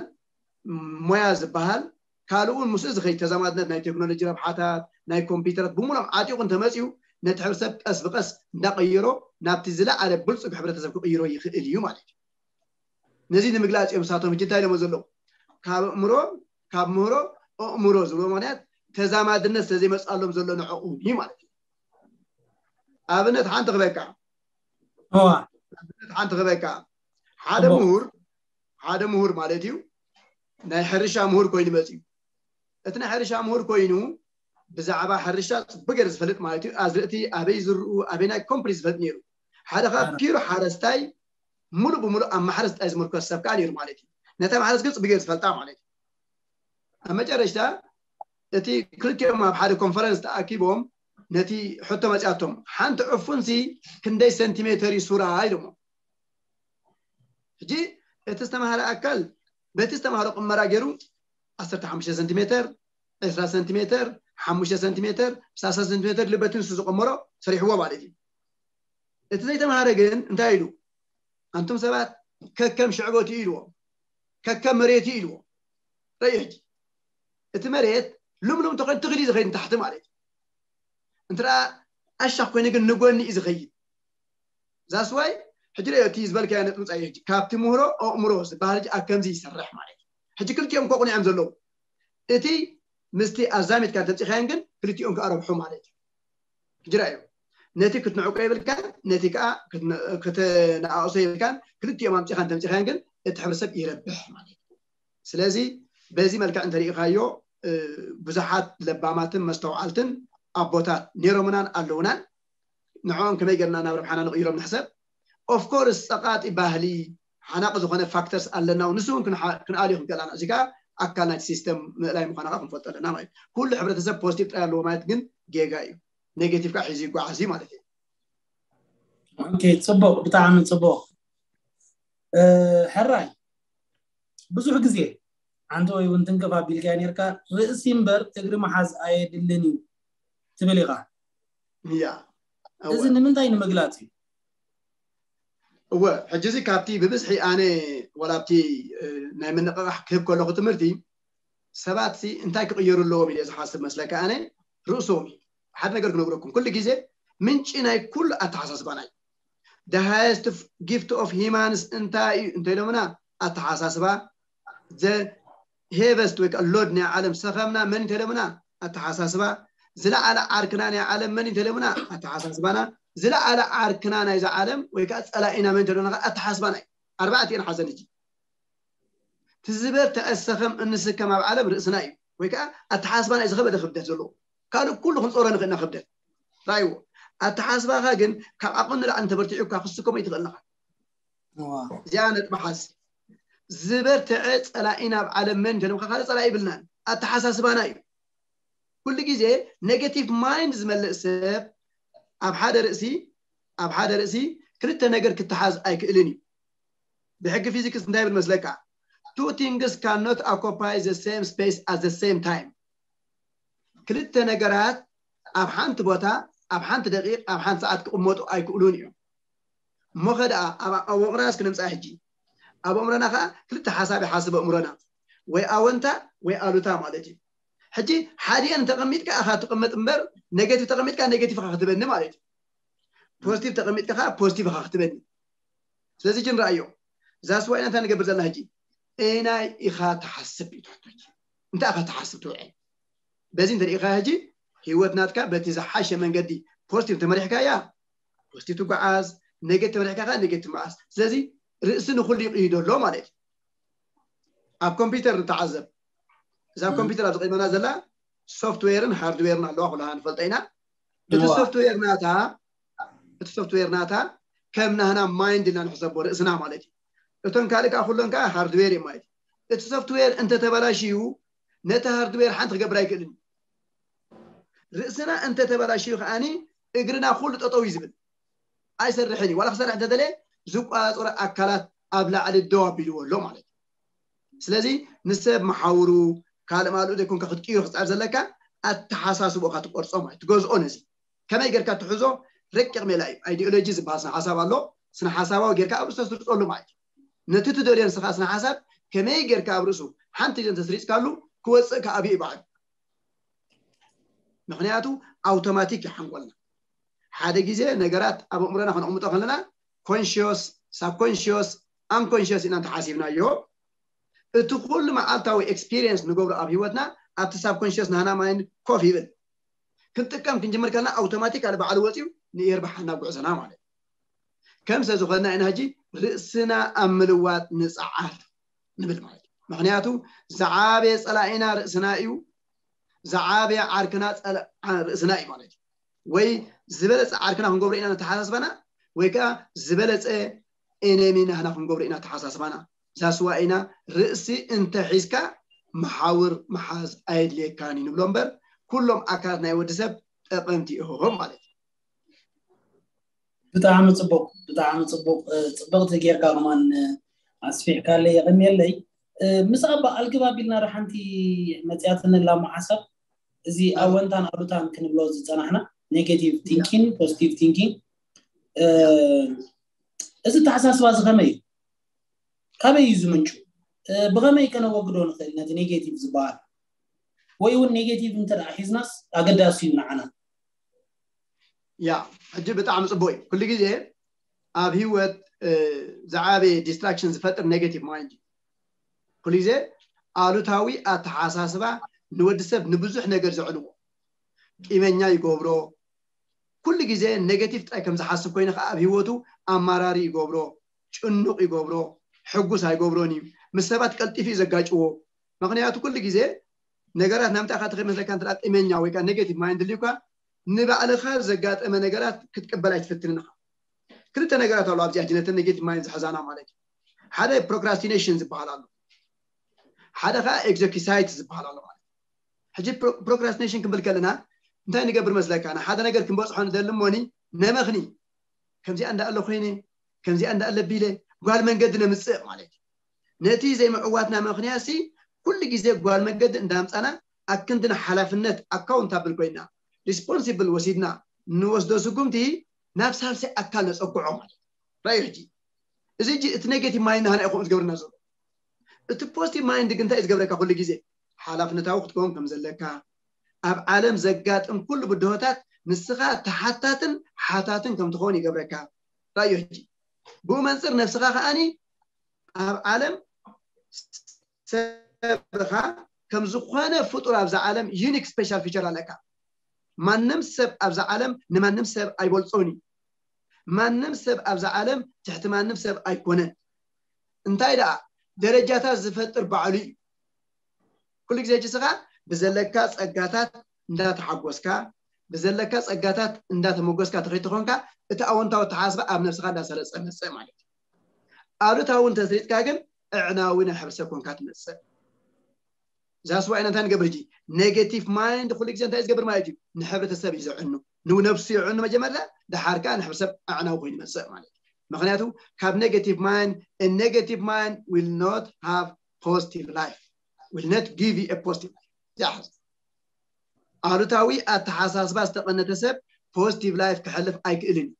ሞያ ዝበሃል ካልኡ እውን ምስኡ ዝኸይድ ተዛማድነት ናይ ቴክኖሎጂ ረብሓታት ናይ ኮምፒውተራት ብምሎም ዓጢቑ እንተመፅኡ ነቲ ሕብረተሰብ ቀስ ብቀስ እንዳቀየሮ ናብቲ ዝለዓለ ብልፁግ ሕብረተሰብ ክቅይሮ ይኽእል እዩ ማለት እዩ ነዚ ንምግላፅ እዮም ንሳቶም ሕጂ እንታይ ኢሎሞ ዘለዉ ካብ ኣእምሮ ካብ ምህሮ ኣእምሮ ዝብሎ ምክንያት ተዛማድነት ስለዘይመፅኣሎም ዘሎ ንዕኡ እዩ ማለት እዩ ኣብነት ሓንቲ ክበካ እዋ ሓንቲ ክበካ ሓደ እሞ- ምሁር ሓደ ምሁር ማለት እዩ ናይ ሕርሻ ምሁር ኮይኑ መፅዩ እቲ ናይ ሕርሻ ምሁር ኮይኑ ብዛዕባ ሕርሻ ፅቡቅ ገይሩ ዝፈልጥ ማለት እዩ ኣዝርእቲ ኣበይ ዝርኡ ኣበይ ናይ ኮምፕሊት ዝፈልጥ ነይሩ ሓደ ካብ ኣረ። ፒሩ ሓረስታይ ሙሉእ ብሙሉእ ኣብ ማሕረስ ጥራይ ዝምርኮስ ሰብ ከዓ ነይሩ ማለት እዩ ነታ ማሕረስ ግን ፅቡቅ ገይሩ ዝፈልጣ ማለት እዩ ኣብ መጨረሽታ እቲ ክልቲኦም ኣብ ሓደ ኮንፈረንስ ተኣኪቦም ነቲ ሕቶ መፅያቶም ሓንቲ ዕፉንሲ ክንደይ ሰንቲሜተር እዩ ሱራ ኢሎሞ ሕጂ እቲ ዝተምሃረ ኣካል በቲ ዝተምሃሮ ቅመራ ገይሩ 15 ሰንቲሜተር 20 ሰንቲሜተር 5 ሰንቲሜተር 30 ሰንቲሜተር ልበትን ንሱ ዝቀመሮ ሰሪሕዎ ማለት እዩ እቲ ዘይተምሃረ ግን እንታይ ኢሉ ኣንቱም ሰባት ከከም ሽዕበቱ ኢልዎ ከከም መሬቱ ኢልዎ ረዩ ሕጂ እቲ መሬት ልምሉም ተኮይኑ ትኽሊ ዝኸይድ ንታሕቲ ማለት እዩ እንተ ኣሻኽ ኮይኑ ግን ንጎኒ እዩ ዝኸይድ ዛስዋይ ሕጂ ሪኦ እቲ ዝበልካዮ ነጥምፃ እዩ ሕጂ ካብቲ ምህሮ ኣእምሮ ዝበሃል ሕጂ ኣብ ከምዚ ይሰርሕ ማለት እዩ ሕጂ ክልቲኦም ኮ ቁኒዖም ዘለዉ እቲ ምስቲ ኣዛሚትካ ተምፂኻዮን ግን ክልቲኦም ከዓ ረብሑ ማለት እዩ ሕጂ ራእዩ ነቲ ክትንዕቆ የብልካን ነቲ ከዓ ክትነኣእሶ የብልካን ክልቲኦም ኣምፂኻን ተምፂኻዮን ግን እቲ ሕብረተሰብ ይረብሕ ማለት እዩ ስለዚ በዚ መልክዕ እንተሪኢኻዮ ብዙሓት ለባማትን መስተውዓልትን ኣቦታት ነይሮምናን ኣለውናን ንዕኦም ከመይ ገርና ናብ ረብሓና ንቕይሮም ንሕሰብ ኦፍኮርስ ፀቓጢ ባህሊ ሓናቂ ዝኾነ ፋክተርስ ኣለና ንሱ እውን ክንኣልዩ ክንክእል ኢና እዚ ከዓ ኣካል ናይቲ ሲስተም ምእላይ ምዃና ከዓ ክንፈልጦ ኣለና ማለት ኩሉ ሕብረተሰብ ፖዚቲቭ ጥራይ ኣለዎ ማለት ግን ጌጋ እዩ ኔጌቲቭ ከዓ ሒዙ ይጓዓዝ እዩ ማለት እዩ ኦኬ ጽቡቕ ብጣዕሚ ጽቡቕ ሕራይ ብዙሕ ግዜ ሓንቲ ወይ እውን ትንክፍ ኣቢልካ ነርካ ርእሲ እምበር እግሪ መሓዝ ኣየድልን እዩ ትብል ኢኻ ያ እዚ ንምንታይ ንምግላፅ እዩ እወ ሕጂ እዚ ካብቲ ብብዝሒ ኣነ ወላ ኣብቲ ናይ ምንቕቓሕ ክህብ ከለኹ ትምህርቲ ሰባት እንታይ ክቕየሩ ኣለዎም ኢለ ዝሓስብ መስለካ ኣነ ርእሶም እዩ ሓደ ነገር ክነግረኩም ኩሉ ግዜ ምንጪ ናይ ኩሉ ኣተሓሳስባና እዩ the highest gift of humans እንታይ እዩ እንተኢሎምና ኣተሓሳስባ the heaviest ወይ ከዓ load ናይ ዓለም ሰኸምና መን እንተኢሎምና ኣተሓሳስባ ዝለዓለ ዓርክና ናይ ዓለም መን እንተኢሎምና ኣተሓሳስባና ዝለዓለ ዓርክና ናይዛ ዓለም ወይ ከዓ ፀላኢና መን እንተኢሎምና ኣተሓሳስባና እዩ ኣርባዕቲኤን ሓዘን እጂ ትዝበር ተኣሰኸም እንስከም ኣብ ዓለም ርእስና እዩ ወይ ከዓ ኣተሓሳስባና እዩ ዝኸበደ ክብደት ዘለዎ ካልእ ኩሉ ክንፀሮ ንኽእልና ክብደት ራይዎ ኣተሓሳስባኻ ግን ካብ ዓቕሚ ንላዕሊ እንተበርቲዑካ ክስከሞ ይትኽእልናኻ እዚኣ ነጥቢ ሓዝ ዝበርትዐ ፀላኢ ናብ ዓለም መን እንተለምካ ካልእ ፀላኢ ይብልናን ኣተሓሳስባና እዩ ኩሉ ግዜ ኔጌቲቭ ማይንድ ዝመልእ ሰብ ኣብ ሓደ ርእሲ ኣብ ሓደ ርእሲ ክልተ ነገር ክተሓዝ ኣይክእልን እዩ ብሕጊ ፊዚክስ እንታይ ይብል መስለካ two things cannot occupy the same space at the same time ክልተ ነገራት ኣብ ሓንቲ ቦታ ኣብ ሓንቲ ደቂቕ ኣብ ሓንቲ ሰዓት ክቕመጡ ኣይክእሉን እዮም እሞ ኸ ደኣ ኣብ ኣእምሮና እስኪ ንምፃእ ሕጂ ኣብ ኣእምሮና ከዓ ክልተ ሓሳብ ይሓስብ ኣእምሮና ወይ ኣወንታ ወይ ኣሉታ ማለት እዩ ሕጂ ሓዲአን ተቐሚጥካ ኢኻ ትቕመጥ እምበር ኔጌቲቭ ተቐሚጥካ ኔጌቲቭ ኢኻ ክትበኒ ማለት እዩ ፖዚቲቭ ተቐሚጥካ ከዓ ፖዚቲቭ ኢኻ ክትበኒ ስለዚ ጅን ረኣዮ ዛስዋይና እንታይ ንገብር ዘለና ሕጂ እንታይ ኢኻ ትሓስብ እዩ ትሕቶች እንታይ ኢኻ ትሓስብ ትውዕል በዚ እንተሪኢኻ ሕጂ ህይወት ናትካ በቲ ዝሓሸ መንገዲ ፖዚቲቭ ተመሪሕካያ ፖዚቲቭ ትጓዓዝ ኔጌቲቭ ተመሪሕካ ከዓ ኔጌቲቭ ትጓዓዝ ስለዚ ርእሲ ንኩሉ ይቕይዶ ኣሎ ማለት እዩ ኣብ ኮምፒውተር ንተዓዘብ እዛ ኮምፒውተር ኣብ ዝቕድመና ዘላ ሶፍትዌርን ሃርድዌርን ኣለዋ ኩላና ንፈልጦ ኢና እቲ ሶፍትዌር ናታ እቲ ሶፍትዌር ናታ ከም ናህና ማይንድ ኢና ንሕሰቦ ርእስና ማለት እዩ እቶም ካልእ ከዓ ኩሎም ከዓ ሃርድዌር እዮም ማለት እዩ እቲ ሶፍትዌር እንተተበላሽዩ ነቲ ሃርድዌር ሓንቲ ክገብር ኣይክእልን ርእስና እንተተበላሽዩ ከዓኒ እግርና ኩሉ ጠጠው እዩ ዝብል ኣይሰርሕን እዩ ዋላ ክሰርሕ እንተደለ ዝቋፀሮ ኣካላት ኣብ ላዕሊ ደው ኣቢልዎ ኣሎ ማለት እዩ ስለዚ ንሰብ መሓውሩ ካልእ ማልኡ ዘይኮንካ ክትቅይሮ ክፅዕር ዘለካ ኣተሓሳስቦካ ትቆርፆ ማለት ትገዝኦ ነዚ ከመይ ጌርካ ትሕዞ ረቂቕ ሜላ እዩ ኣይዲኦሎጂ ዝበሃል ስነ ሓሳብ ኣሎ ስነ ሓሳባዊ ጌርካ ኣብ ርእሱ ተስርፀሉ ማለት እዩ ነቲ ትደልዮ ንስኻ ስነ ሓሳብ ከመይ ጌርካ ኣብ ርእሱ ሓንቲ ግዜ እንተስሪፅካሉ ክወፅእ ከኣብ እዩ በዓል ምክንያቱ ኣውቶማቲክ እዩ ሓንጎልና ሓደ ግዜ ነገራት ኣብ ኣእምሮና ከነቕምጦ ከለና ኮንሽዮስ ሳብኮንሽዮስ ኣንኮንሽዮስ ኢና እንተሓሲብናዮ እቲ ኩሉ መዓልታዊ ኤክስፒሪየንስ ንገብሮ ኣብ ህይወትና ኣብቲ ሳብኮንሽስ ናህና ማይንድ ኮፍ ይብል ክንጥቀም ክንጅምር ከለና ኣውቶማቲካሊ ባዕሉ ወፂኡ ንየርብሓና ጉዕዞና ማለት እዩ። ከም ስለዝኾንና ኢና ሕጂ ርእስና ኣብ ምልዋጥ ንፅዓር ንብል ማለት እዩ። ምክንያቱ ዝዓበየ ፀላኢና ርእስና እዩ። ዝዓበየ ዓርክና ፀላ- ዓ- ርእስና እዩ ማለት እዩ። ወይ ዝበለፀ ዓርክና ክንገብሮ ኢና ነተሓሳስባና፣ ወይ ከዓ ዝበለፀ ኤነሚ ናህና ክንገብሮ ኢና ተሓሳስባና። ዛስዋ ኢና ርእሲ እንተሒዝካ መሓውር መሓዝ ኣየድልየካን እዩ ንብሎ እምበር ኩሎም ኣካላት ናይ ወዲ ሰብ ጠቐምቲ እዮም ማለት እዩ። ብጣዕሚ ፅቡቅ፣ ብጣዕሚ ፅቡቅ። እ፣ ፅብቅቲ ጌርካ ከማን፣ እ፣ ኣስፊሕካለይ፣ የቐንየለይ። እ፣ ምስ ኣባ ኣልግባብ ኢልና ዶ ሓንቲ መፅያትኒ ላሞ ሓሳብ፣ እዚ ኣወንታን ኣሉታን ክንብሎ ዝፀናሕና፣ ኔጌቲቭ ቲንኪንግ፣ ፖዚቲቭ ቲንኪንግ፣ እ፣ እዚ ተሓሳስባ እዚ ከመይ እዩ? ካበይ እዩ ዝምንጩ? እ፣ ብኸመይ ከነወግዶ ንኽእል ነቲ ኔጌቲቭ ዝበሃል? ወይ እውን ኔጌቲቭ እንተ ደኣ ሒዝናስ ኣገዳሲ እዩ ንዓና? ያ፣ ሕጂ ብጣዕሚ ፅቡቅ እዩ። ኩሉ ግዜ ኣብ ህይወት፣ እ፣ ዝዓበየ ዲስትራክሽን ዝፈጥር ኔጌቲቭ ማይንድ እዩ። ኩሉ ግዜ ኣሉታዊ ኣተሓሳስባ ንወዲ ሰብ ንብዙሕ ነገር ዘዕንዎ፣ ቂመኛ ይገብሮ። ኩሉ ግዜ ኔጌቲቭ ጥራይ ከም ዝሓስብ ኮይኑ ከዓ ኣብ ህይወቱ ኣማራሪ ይገብሮ፣ ጭኑቅ ይገብሮ፣ ሕጉስ ኣይገብሮን እዩ። ምስ ሰባት ቀልጢፉ እዩ ዘጋጭዎ። ምክንያቱ ኩሉ ግዜ ነገራት ናምንታይ ኢኻ ትኸይድ መስለካ? እንተ ቂመኛ ወይ ከዓ ኔጌቲቭ ማይንድ ልዩካ ንባዕልኻ ዘጋጠመ ነገራት ክትቅበል ኣይትፈትንን ኢኻ። ክልተ ነገራት ኣሎ ኣብዚኣ ነተን ኔጌቲቭ ማይንድ ዝሕዛና ማለት እዩ። ሓደ ፕሮክራስቲኔሽን ዝበሃል ኣሎ፣ ሓደ ከዓ ኤግዘኪሳይት ዝበሃል ኣሎ ማለት እዩ። ሕጂ ፕሮክራስቲኔሽን ክንብል ከለና እንታይ ንገብር መስለካ? ንሓደ ነገር ክንበፅሖ ንደሊ እሞኒ ነመኽኒ፣ ከምዚኣ እንዳኣለ ኮይነ፣ ከምዚኣ እንዳኣለ ቢለ ጓል መንገዲ ነምፅእ ማለት እዩ። ነቲ ዘይምዕዋትና ምክንያት ሲ ኩሉ ግዜ ጓል መንገዲ እንዳምፃና ኣክንድና ሓላፍነት ኣካውንታብል ኮይና ሪስፖንሲብል ወሲድና ንወስዶ ስጉምቲ ናብ ሳልሳይ ኣካል ነፀግዖ ማለት እዩ። ራእዩ ሕጂ እዚ ሕጂ እቲ ኔጌቲቭ ማይንድ ናህና እዩ ከምኡ ዝገብርና ዘሎ። እቲ ፖዚቲቭ ማይንድ ግን እንታይ እዩ ዝገብረካ? ኩሉ ግዜ ሓላፍነታዊ ክትከውን ከም ዘለካ፣ ኣብ ዓለም ዘጋጥም ኩሉ ብድሆታት ንስኻ ተሓታትን ሓታትን ከም ትኸውን ይገብረካ። ራእዩ ሕጂ ብኡ መንፅር ነብስኻ ከዓኒ ኣብ ዓለም ሰብኻ ከም ዝኾነ ፍጡር ኣብዛ ዓለም ዩኒክ ስፔሻል ፊቸር ኣለካ። ማንም ሰብ ኣብዛ ዓለም ንማንም ሰብ ኣይበልፆን እዩ። ማንም ሰብ ኣብዛ ዓለም ትሕቲ ማንም ሰብ ኣይኮነን። እንታይ ደኣ ደረጃታት ዝፈጥር ባዕሉ እዩ። ኩሉ ግዜ ሕጂ ስኻ ብዘለካ ፀጋታት እንዳተሓጎስካ፣ ብዘለካ ፀጋታት እንዳተመጎስካ ትኸይድ ተኾንካ፣ እቲ ኣወንታዊ ኣተሓሳስባ ኣብ ነብስኻ እንዳሰረፀ መፅእ ማለት እዩ። ኣሉታዊ እንተስሪፅካ ግን እዕናዊ ናይ ሕብረተሰብ ኮንካ ትመፅእ። ዛስዋ ኢና እንታይ ንገብር ሕጂ? ኔጌቲቭ ማይንድ ኩሉ ግዜ እንታይ እዩ ዝገብር ማለት እዩ? ንሕብረተሰብ እዩ ዘዕኑ፣ ንነብሱ የዕኑ። መጀመርያ ደሓር ከዓ ንሕብረተሰብ ኣዕናዊ ኮይኑ ይመፅእ ማለት እዩ። ምክንያቱ ካብ negative mind, a negative mind will not have positive life, will not give you a positive life። ዝሓዝ ኣሉታዊ ኣተሓሳስባ ዝተቐነተ ሰብ ፖዚቲቭ ላይፍ ክሕልፍ ኣይክእልን እዩ።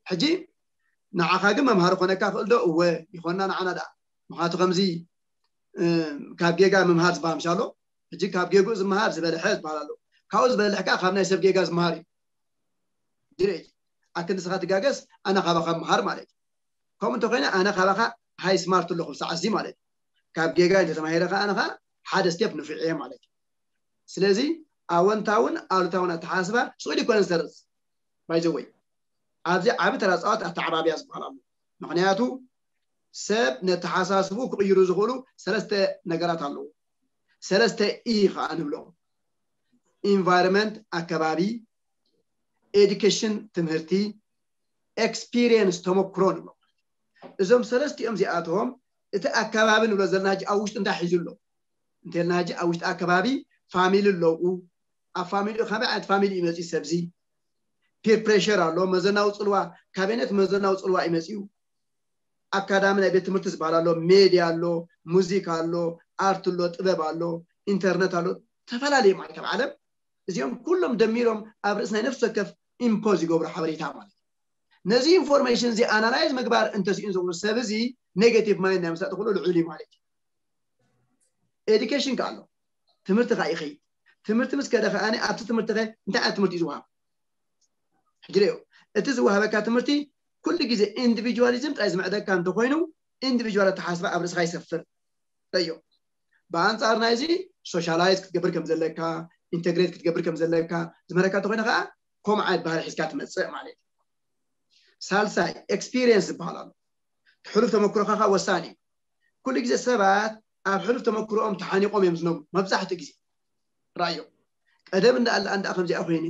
ሕጂ ንዓኻ ግን መምሃሪ ኮነካ ክእል ዶ? እወ ይኾንና ንዓና ደኣ። ምክንያቱ ከምዚ ካብ ጌጋ ምምሃር ዝበሃል ምሻሎ። ሕጂ ካብ ጌግኡ ዝመሃር ዝበልሐ ዝበሃል ኣሎ። ካብኡ ዝበልሕ ከዓ ካብ ናይ ሰብ ጌጋ ዝመሃር እዩ። ድሬ ኣክል ንስኻ ትጋገስ ኣነ ካባኻ ምሃር ማለት እዩ። ከምኡ እንተኮይነ ኣነ ካባኻ ሃይ ስማርት ኣለኹ ብሰዓት እዚ ማለት እዩ። ካብ ጌጋ እንተተማሂረ ከዓ ኣነ ከዓ ሓደ ስቴፕ ንፍዕ እየ ማለት እዩ። ስለዚ ኣወንታውን ኣሉታውን ኣተሓሳስባ ስኡል ይኮነ ዝሰርፅ ባይዘወይ ኣብዚ ዓቢ ተራ ፃወት ኣተዓባብያ ዝበሃል ኣሎ። ምክንያቱ ሰብ ነተሓሳስቡ ክቕይሩ ዝኽእሉ ሰለስተ ነገራት ኣለዉ። ሰለስተ ኢ ከዓ ንብሎም። ኢንቫይሮንመንት ኣከባቢ፣ ኤዱኬሽን ትምህርቲ፣ ኤክስፒሪየንስ ተመክሮ ንብሎም። እዞም ሰለስቲኦም እዚኣቶም እቲ ኣከባቢ ንብሎ ዘለና ሕጂ ኣብ ውሽጢ እንታይ ሒዙ ኣሎ እንተልና ሕጂ ኣብ ውሽጢ ኣከባቢ ፋሚሊ ኣለዉ። ኣብ ፋሚሊ ከመይ ዓይነት ፋሚሊ እዩ መፅኡ ሰብዚ? ፒር ፕሬሸር ኣሎ፣ መዘናዊ ፅልዋ፣ ካበይነት መዘናዊ ፅልዋ እዩ መፅኡ? ኣካዳሚ ናይ ቤት ትምህርቲ ዝበሃል ኣሎ፣ ሜድያ ኣሎ፣ ሙዚቃ ኣሎ፣ ኣርት ኣሎ፣ ጥበብ ኣሎ፣ ኢንተርነት ኣሎ፣ ተፈላለዩ ማለት ኣብ ዓለም እዚኦም ኩሎም ደሚሮም ኣብ ርእሲ ናይ ነፍሲ ወከፍ ኢምፖዝ ይገብሩ ሓበሬታ ማለት እዩ። ነዚ ኢንፎርሜሽን እዚ ኣናላይዝ ምግባር እንተስኢን ዝብሉ ሰብ እዚ ኔጌቲቭ ማይንድ ናይ ምሳጥ ክእሉ ልዑል እዩ ማለት እዩ። ኤዱኬሽን ከ ኣሎ፣ ትምህርቲ ከ ይኸይድ። ትምህርቲ ምስ ከደ ከኣ ኣብቲ ትምህርቲ ከ እንታይ ዓይነት ትምህርቲ እዩ ዝወሃብ? ሕጂ ሪኦ፣ እቲ ዝወሃበካ ትምህርቲ ኩሉ ግዜ ኢንዲቪጁዋሊዝም ጥራይ ዝምዕደካ እንተኮይኑ ኢንዲቪጁዋል ኣተሓስባ ኣብ ርእስኻ ይሰፍር። ረዮ ብኣንፃር ናይዚ ሶሻላይዝ ክትገብር ከም ዘለካ፣ ኢንተግሬት ክትገብር ከም ዘለካ ዝመረካ እንተኮይነ ከዓ ከምኡ ዓይነት ባህሪ ሒዝካ ትመፅእ ማለት እዩ። ሳልሳይ፣ ኤክስፒሪየንስ ዝበሃል ኣሎ። ሕሉፍ ተመክሮኻ ከዓ ወሳኒ እዩ። ኩሉ ግዜ ሰባት ኣብ ሕሉፍ ተመክሮኦም ተሓኒቆም እዮም ዝነብሩ። መብዛሕትኡ ግዜ ራእዮም፣ ቀደም እንዳኣለ ኣንዳ ከምዚኣ ኮይነ፣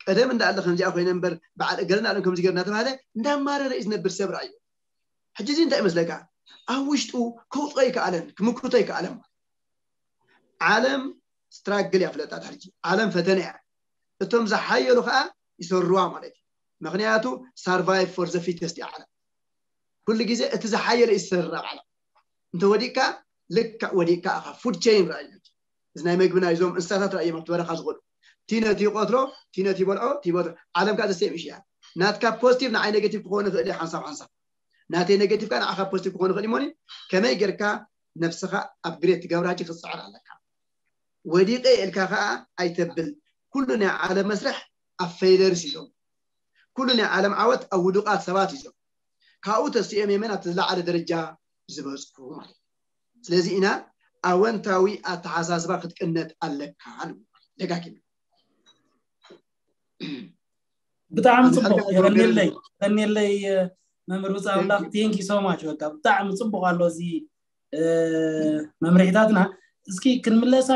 ቀደም እንዳኣለ ከምዚኣ ኮይነ እምበር፣ በዓል እገለ እንዳኣለ ከምዚ ገይሩ እናተባሃለ እንዳማረረ እዩ ዝነብር ሰብ ራእዮ። ሕጂ እዚ እንታይ ይመስለካ? ኣብ ውሽጡ ከውፅኦ ኣይከኣለን፣ ክምክቶ ኣይከኣለን። ዓለም ስትራግል እያ ፍለጣት ሕጂ። ዓለም ፈተነ እያ። እቶም ዝሓየሉ ከዓ ይሰርዋ ማለት እዩ። ምክንያቱ survive for the fittest እያ ዓለም። ኩሉ ግዜ እቲ ዝሓየለ እዩ ዝሰርር ኣብ ዓለም። እንተ ወዲቅካ፣ ልክዕ ወዲቅካ ኢኻ። ፉድ ቼን ራእዩ። እዚ ናይ መግቢ ናይ እዞም እንስሳታት ራእዮም ኣብቲ በረኻ ዝኸዱ። እቲ ነቲ ይቆትሎ፣ እቲ ነቲ ይበልዖ፣ እቲ ይበልዖ። ዓለም ከዓ ዘሴም እያ። ናትካ ፖዚቲቭ ንዓይ ኔጌቲቭ ክኸውን ይኽእል እዩ ሓንሳብ ሓንሳብ። ናተይ ኔጌቲቭ ከዓ ንዓኻ ፖዚቲቭ ክኸውን ይኽእል እዩ። እሞኒ ከመይ ጌርካ ነብስኻ ኣፕግሬድ ትገብራ ሕጂ ክትፅዕር ኣለካ። ወዲቐ ኢልካ ከዓ ኣይተብል። ኩሉ ናይ ዓለም መስርሕ ኣብ ፌይለርስ እዮም። ኩሉ ናይ ዓለም ዓወት ኣብ ውዱቃት ሰባት እዮም። ካብኡ ተሲኦም እዮም ናብቲ ዝለዓለ ደረጃ ዝበፅሑ ማለት እዩ። ስለዚ ኢና ኣወንታዊ ኣተሓሳስባ ክትቅነት ኣለካ ንብል። ደጋጊም ብጣዕሚ ጽቡቅ። የቀንየለይ፣ የቀንየለይ። መምህር ብጻ ኣምላኽ፣ thank you so much። በቃ ብጣዕሚ ጽቡቅ ኣሎ እዚ መምርሒታትና። እስኪ ክንምለሳ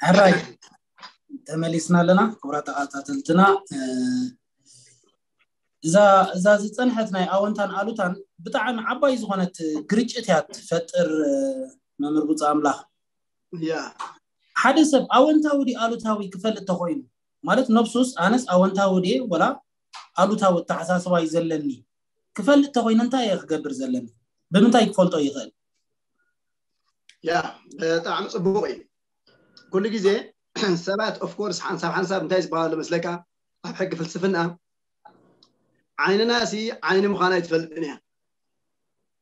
ሕራይ ተመሊስና ኣለና። ክቡራት ተኸታተልትና፣ እዛ ዝፀንሐት ናይ ኣወንታን ኣሉታን ብጣዕሚ ዓባይ ዝኾነት ግርጭት እያ ትፈጥር። መምህር ብፁዕ ኣምላኽ፣ ሓደ ሰብ ኣወንታዊ ድዩ ኣሉታዊ ክፈልጥ ተኾይኑ፣ ማለት ነብሱስ ኣነስ ኣወንታዊ ድየ ወላ ኣሉታዊ ኣተሓሳስባ እዩ ዘለኒ ክፈልጥ ተኾይኑ እንታይ እየ ክገብር ዘለኒ? ብምንታይ ክፈልጦ ይኽእል? ያ ብጣዕሚ ፅቡቅ እዩ። ኩሉ ግዜ ሰባት ኦፍኮርስ ሓንሳብ ሓንሳብ እንታይ ዝበሃሉ መስለካ? ኣብ ሕጊ ፍልስፍና ዓይንና ሲ ዓይኒ ምዃና ኣይትፈልጥን እያ፣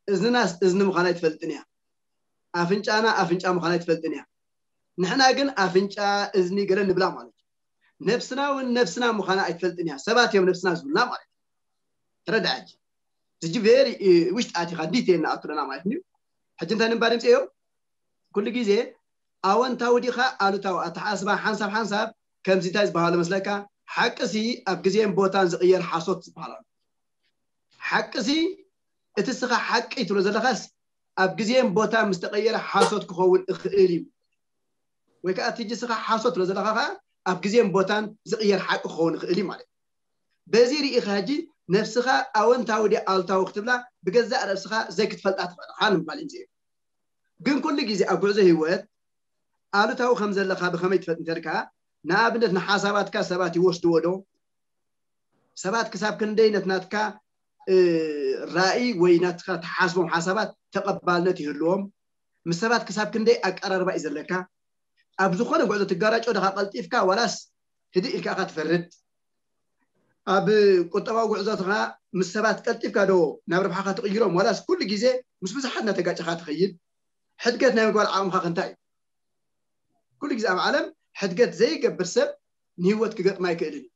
እዝንና እዝኒ ምዃና ኣይትፈልጥን እያ፣ ኣፍንጫና ኣፍንጫ ምዃና ኣይትፈልጥን እያ። ንሕና ግን ኣፍንጫ እዝኒ ገለ ንብላ ማለት እዩ። ነብስና እውን ነብስና ምዃና ኣይትፈልጥን እያ። ሰባት እዮም ነብስና ዝብሉና ማለት እዩ። ተረዳእ ሕጂ። እዚ ጂ ቬሪ ውሽጢ ኣቲኻ ዲቴል ንኣቱ ኣለና ማለት እዩ። ሕጂ እንታይ ንምባል ይምፅእ እዮ? ኩሉ ግዜ ኣወንታዊ ዲኻ ኣሉታዊ ኣተሓስባ ሓንሳብ ሓንሳብ ከምዚ እንታይ ዝበሃሉ መስለካ? ሓቅሲ ኣብ ግዜን ቦታን ዝቕየር ሓሶት ዝበሃል ኣሎ። ሓቅሲ እቲ ስኻ ሓቂ ትብሎ ዘለኻስ ኣብ ግዜን ቦታን ምስ ተቐየረ ሓሶት ክኸውን እኽእል እዩ። ወይ ከዓ እቲ ስኻ ሓሶት ትብሎ ዘለኻ ከዓ ኣብ ግዜን ቦታን ዝቕየር ሓቂ ክኸውን ይኽእል እዩ ማለት እዩ። በዚ ርኢኻ ሕጂ ነብስኻ ኣወንታዊ ድያ ኣሉታዊ ክትብላ ብገዛእ ርእስኻ ዘይክትፈልጣ ትኽእል ኢኻ ንምባል እዩ። ግን ኩሉ ግዜ ኣብ ጉዕዞ ህይወት ኣሉታዊ ከም ዘለኻ ብኸመይ ትፈልጥ እንተልካ፣ ንኣብነት ንሓሳባትካ ሰባት ይወስድዎ ዶ? ሰባት ክሳብ ክንደይ ነት ናትካ ራእይ ወይ ናትካ ትሓስቦም ሓሳባት ተቐባልነት ይህልዎም? ምስ ሰባት ክሳብ ክንደይ ኣቀራርባ እዩ ዘለካ? ኣብ ዝኾነ ጉዕዞ ትጋራጮ ደኻ ቀልጢፍካ ዋላስ ህድእ ኢልካ ኢኻ ትፈርድ? ኣብ ቁጠባዊ ጉዕዞትኻ ምስ ሰባት ቀልጢፍካ ዶ ናብ ረብሓኻ ትቕይሮም ዋላስ ኩሉ ግዜ ምስ ብዙሓት እናተጋጨኻ ትኸይድ? ሕድገት ናይ ምግባር ዓቕምኻ ክንታይ እዩ? ኩሉ ግዜ ኣብ ዓለም ሕድገት ዘይገብር ሰብ ንህይወት ክገጥማ ኣይክእልን እዩ።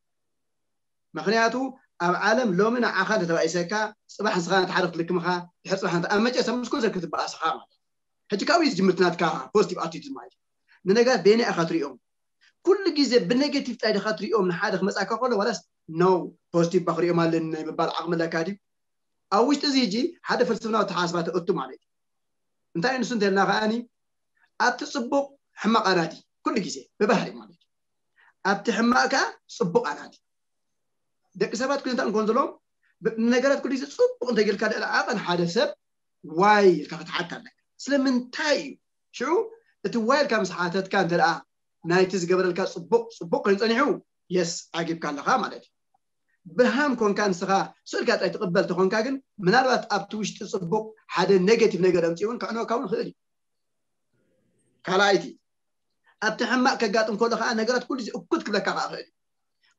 ምክንያቱ ኣብ ዓለም ሎሚ ንዓኻ እንተተባኢሰካ ፅባሕ ንስኻ ነቲ ሓደ ክትልክምኻ ድሕር ፅባሕ ነቲ ኣብ መጨረሻ ምስ ኩሉ ሰብ ክትበኣስኻ ማለት እዩ። ሕጂ ካብኡ እዩ ዝጅምር እቲ ናትካ ፖዚቲቭ ኣቲቱድ ማለት እዩ። ንነገራት በየናይ ኢኻ ትሪኦም? ኩሉ ግዜ ብኔጌቲቭ ጥራይ ዲኻ ትሪኦም ንሓደ ክመፃካ ከሎ ዋላስ ኖ ፖዚቲቭ ባ ክሪኦም ኣለኒ ናይ ምባል ዓቕሚ ኣለካ ድዩ? ኣብ ውሽጢ እዚ ሕጂ ሓደ ፍልስፍናዊ ተሓስባ ተእቱ ማለት እዩ። እንታይ ንሱ እንተልና ከዓኒ ኣብቲ ፅቡቕ ሕማቕ ኣናዲ ኩሉ ግዜ ብባህሪ ማለት እዩ። ኣብቲ ሕማቕ ከዓ ፅቡቕ ኣናዲ። ደቂ ሰባት ኩነታት እንኮን ዘለዎም ነገራት ኩሉ ግዜ ፅቡቕ እንተጌርካ ደኣ ዓቐን ሓደ ሰብ ዋይ ኢልካ ክትሓት ኣለካ። ስለምንታይ እዩ? ሽዑ እቲ ዋይ ኢልካ ምስ ሓተትካ እንተ ደኣ ናይቲ ዝገበረልካ ጽቡቕ ጽቡቕ ኮይኑ ጸኒሑ፣ የስ፣ ዓጊብካ ኣለኻ ማለት እዩ። ብርሃም ኮንካ ንስኻ ስእልካ ጥራይ ትቕበል ተኾንካ ግን፣ ምናልባት ኣብቲ ውሽጢ ጽቡቕ ሓደ ኔጌቲቭ ነገር ኣምጺኡ እውን ከዕንወካ እውን ይኽእል እዩ። ካልኣይቲ፣ ኣብቲ ሕማቕ ከጋጥም ከሎ ከዓ ነገራት ኩሉ ግዜ እኩት ክብለካ ከዓ ይኽእል እዩ።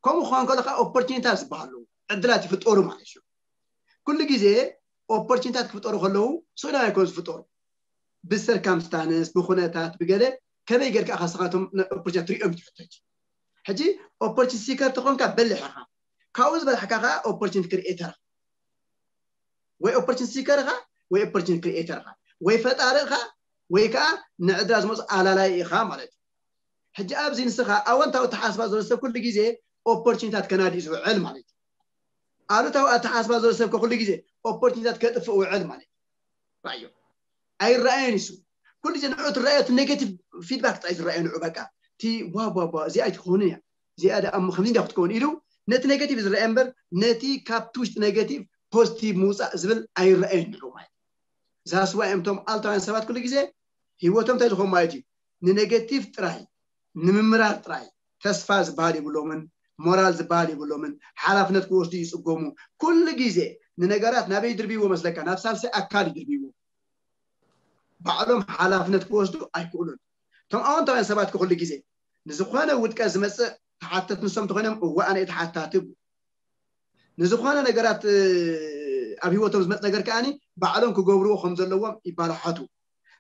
ከምኡ ክኸውን ከሎ ከዓ ኦፖርቹኒታት ዝበሃሉ ዕድላት ይፍጠሩ ማለት እዩ። ኩሉ ግዜ ኦፖርቹኒታት ክፍጠሩ ከለዉ ስእሎም ኣይኮን ዝፍጠሩ፣ ብሰርከምስታንስ፣ ብኩነታት፣ ብገለ ከመይ ጌርካ ኢኻ ንስኻቶም ኦፖርቹኒታት ትሪኦም ትሕተት። ሕጂ ኦፖርቹኒቲ ሲከር ተኾንካ በሊሕ ኢኻ። ካብኡ ዝበላሕካ ከዓ ኦፖርቹኒቲ ክሪኤተር ኢኻ። ወይ ኦፖርቹኒቲ ሲከር ኢኻ፣ ወይ ኦፖርቹኒቲ ክሪኤተር ኢኻ፣ ወይ ፈጣሪ ኢኻ፣ ወይ ከዓ ንዕድላ ዝመፁ ኣላላይ ኢኻ ማለት እዩ። ሕጂ ኣብዚ ንስኻ ኣወንታዊ ኣተሓሳስባ ዘሎ ሰብ ኩሉ ግዜ ኦፖርቹኒታት ከናዲ እዩ ዝውዕል ማለት እዩ። ኣሉታዊ ኣተሓሳስባ ዘሎ ሰብ ኩሉ ግዜ ኦፖርቹኒታት ከጥፍእ ውዕል ማለት እዩ። ራእዮ ኣይረኣየን ይሱ ኩሉ ግዜ ንዑ ትረኣዮ እቲ ኔጌቲቭ ፊድባክ ጥራይ ዝረኣዮ ንዑ በቃ እቲ ዋ ዋ ዋ እዚኣ ኣይትኸውን እያ እዚኣ ደኣ እሞ ከምዚ እንዲያ ክትከውን ኢሉ ነቲ ኔጌቲቭ ዝረኣየ እምበር ነቲ ካብቲ ውሽጢ ኔጌቲቭ ፖዚቲቭ ምውፃእ ዝብል ኣይረኣየን ንዑ ማለት እዩ። ዛስዋ እዮም እቶም ኣልታውያን ሰባት ኩሉ ግዜ ህይወቶም እንታይ ዝኾኑ ማለት እዩ ንኔጌቲቭ ጥራይ ንምምራር ጥራይ ተስፋ ዝበሃል የብሎምን ሞራል ዝበሃል የብሎምን ሓላፍነት ክወስዱ ይፅገሙ ኩሉ ግዜ ንነገራት ናበይ ድርብይዎ መስለካ ናብ ሳልሳይ ኣካል ይድርብይዎ ባዕሎም ሓላፍነት ክወስዱ ኣይክእሉን እቶም ኣወንታውያን ሰባት ክኩሉ ግዜ ንዝኾነ ውድቀት ዝመፅእ ተሓተት ንሶም ተኾይኖም እወ ኣነ ተሓታቲ ንዝኾነ ነገራት ኣብ ህይወቶም ዝመፅ ነገር ከዓኒ ባዕሎም ክገብርዎ ከም ዘለዎም ይባላሓቱ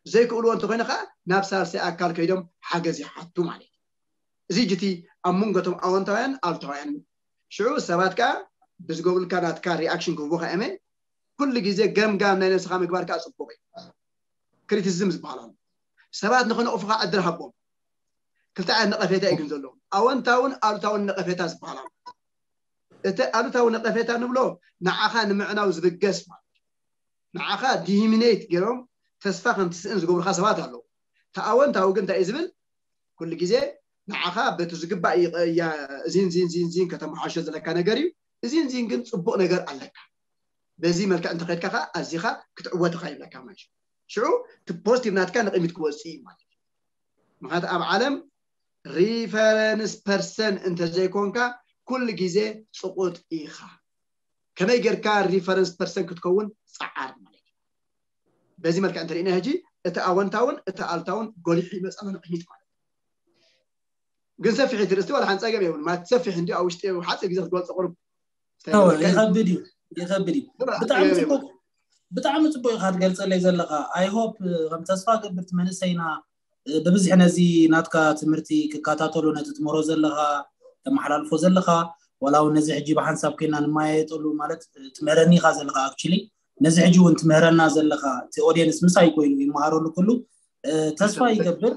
ዘይክእልዎ እንተኮይነ ከዓ ናብ ሳልሳይ ኣካል ከይዶም ሓገዝ ይሓቱ ማለት እዩ እዚ ጅቲ ኣብ መንጎቶም ኣወንታውያን ኣሉታውያን ሽዑ ሰባት ከዓ ብዝገብሩልካ ናትካ ሪኣክሽን ክህቡካ እመ ኩሉ ግዜ ገምጋም ናይ ነብስኻ ምግባር ከዓ ፅቡቅ እዩ ክሪቲሲዝም ዝበሃል ኣሎ ሰባት ንክነቕፉካ ዕድል ሃቦም ክልተ ዓይነት ነቐፌታ እዩ ግን ዘለዎም ኣወንታውን ኣሉታውን ነቐፌታ ዝበሃል ኣሎ እቲ ኣሉታዊ ነቐፌታ ንብሎ ንዓኻ ንምዕናው ዝብገስ ማለት ንዓኻ ዲሂሚኔት ገይሮም ተስፋ ከም ትስእን ዝገብሩኻ ሰባት ኣለዉ እቲ ኣወንታዊ ግን እንታይ እዩ ዝብል ኩሉ ግዜ ንዓኻ በቲ ዝግባእ እዚን ዚን ዚን ዚን ከተመሓሾ ዘለካ ነገር እዩ እዚን ዚን ግን ፅቡቅ ነገር ኣለካ በዚ መልክዕ እንተኸድካ ከዓ ኣዚኻ ክትዕወት ኢኻ ይብለካ ማለት እዩ ሽዑ እቲ ፖዚቲቭ ናትካ ንቕሚት ክወፅእ እዩ ማለት እዩ ምክንያቱ ኣብ ዓለም ሪፈረንስ ፐርሰን እንተዘይኮንካ ኩሉ ግዜ ፅቁጥ ኢኻ ከመይ ጌርካ ሪፈረንስ ፐርሰን ክትከውን ፀዓር ማለት እዩ በዚ መልክዕ እንተሪእና ሕጂ እቲ ኣወንታውን እቲ ኣልታውን ጎሊሑ ይመፃና ንቕሚት ማለት ግን ሰፊሕ ትርእስቲ ዋላ ሓንፃ ገብ የብሉ ማለት ሰፊሕ እንዲ ኣብ ውሽጢ ሓፂር ግዜ ክትገልፆ ቅሩብ ይኸብድ እዩ ይኸብድ እዩ ብጣዕሚ ፅቡቅ ብጣዕሚ ፅቡቅ ኢካ ትገልፀለይ ዘለካ ኣይሆፕ ከም ተስፋ ገብርቲ መንእሰይና ብብዝሒ ነዚ ናትካ ትምህርቲ ክከታተሉ ነቲ ትምህሮ ዘለካ ተመሓላልፎ ዘለካ ዋላ እውን ነዚ ሕጂ ብሓንሳብ ኮይና ንመያየጠሉ ማለት ትምህረኒ ኢካ ዘለካ ኣክቹሊ ነዚ ሕጂ እውን ትምህረና ዘለካ እቲ ኦዲየንስ ምሳይ ኮይኑ ይመሃረሉ ኩሉ ተስፋ ይገብር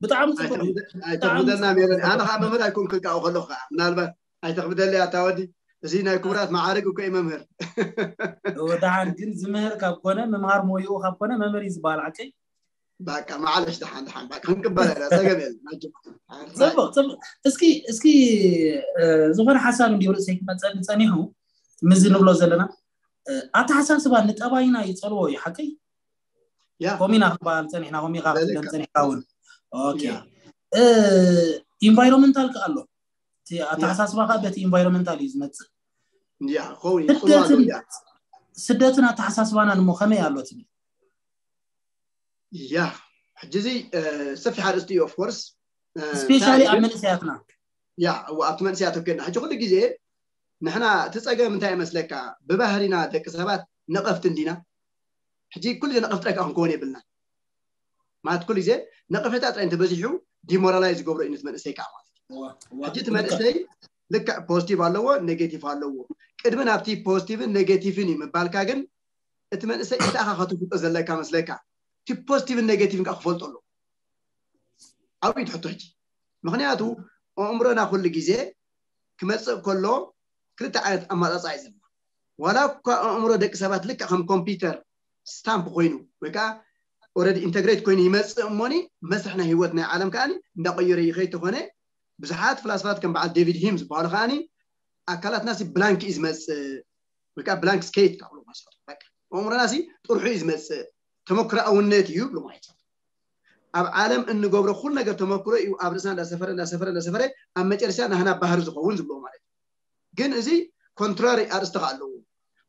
ብጣዕሚ ፅቡቅ እዩ ኣይተኽብደልና ሜሮን ኣነ ከዓ መምህር ኣይኮንኩን ከዓ ከለኹ ከዓ ምናልባት ኣይተኽብደለይ ኣታ ወዲ እዚ ናይ ክቡራት መዓርግ እኮ እዩ መምህር ወድሓን ግን ዝምህር ካብ ኮነ ምምሃር ሞይኡ ካብ ኮነ መምህር እዩ ዝበሃል ዓቀይ በቃ ማዓለሽ ደሓን ደሓን በቃ ክንቅበል ኢና ጸገም የለን ጽቡቅ ጽቡቅ እስኪ እስኪ ዝኾነ ሓሳብ እንዲሁ ርእሰይ ክመፀኒ ፀኒሑ ምዚ ንብሎ ዘለና ኣተሓሳስባ ንጠባይና ይፀልዎ እዩ ሓቀይ ያ ኮሚና ክበሃል ፀኒሕና ኮሚካ ክትብለን ፀኒሕካ እውን ኦኬ ኢንቫይሮንመንታል ከ ኣሎ ኣተሓሳስባካ በቲ ኢንቫይሮንመንታል እዩ ዝመፅእ ያ ኸውን ይጽልዋ ስደትን ኣተሓሳስባናን እሞ ከመይ ኣሎ ትብል ያ ሕጂ እዚ ሰፊሕ ኣርእስቲ እዩ ኦፍኮርስ ስፔሻሊ ኣብ መንእሰያትና ያ ኣብቲ መንእሰያት ኮይና ሕጂ ኩሉ ግዜ ንሕና እቲ ፀገም እንታይ ይመስለካ ብባህሪና ደቂ ሰባት ነቐፍቲ እንዲና ሕጂ ኩሉ ግዜ ነቐፍቲ ጥራይ ከዓ ክንከውን የብልና ማለት ኩሉ ግዜ ነቐፌታ ጥራይ እንተበዚሑ ዲሞራላይዝ ዝገብሮ እዩ ነቲ መንእሰይ ከዓ ማለት እዩ ሕጂ እቲ መንእሰይ ልክዕ ፖዚቲቭ ኣለዎ ኔጌቲቭ ኣለዎ ቅድሚ ናብቲ ፖዚቲቭን ኔጌቲቭን እዩ ምባልካ ግን እቲ መንእሰይ እንታይ ኢኻ ከተፍልጦ ዘለካ መስለካ እቲ ፖዚቲቭን ኔጌቲቭን ከዓ ክፈልጦ ኣለዎ ኣብኡ ትሕቶ ሕጂ ምክንያቱ ኣእምሮና ኩሉ ግዜ ክመፅእ ከሎ ክልተ ዓይነት ኣማፃፃ እዩ ዘለና ዋላ እኳ ኣእምሮ ደቂ ሰባት ልክዕ ከም ኮምፒውተር ስታምፕ ኮይኑ ወይ ከዓ ኦረዲ ኢንተግሬት ኮይኑ ይመፅእ እሞኒ መስርሕ ናይ ህይወት ናይ ዓለም ከዓ እንዳቀየረ ይኸይድ ተኾነ ብዙሓት ፍላስፋት ከም በዓል ዴቪድ ሂም ዝበሃሉ ከዓ ኣካላትና ሲ ብላንክ እዩ ዝመፅእ ወይ ከዓ ብላንክ ስኬት ካብሉ ማስፋት በቃ ኣእምሮና ሲ ጥርሑ እዩ ዝመፅእ። ተመክሮኣውነት እዩ ይብሉ ማለት እዩ። ኣብ ዓለም እንገብሮ ኩሉ ነገር ተመክሮ እዩ ኣብ ርእስና እንዳሰፈረ እንዳሰፈረ እንዳሰፈረ ኣብ መጨረሻ ናህና ባህሪ ዝኸውን ዝብሎ ማለት እዩ። ግን እዚ ኮንትራሪ ኣርእስቲ ከ ኣለዎ።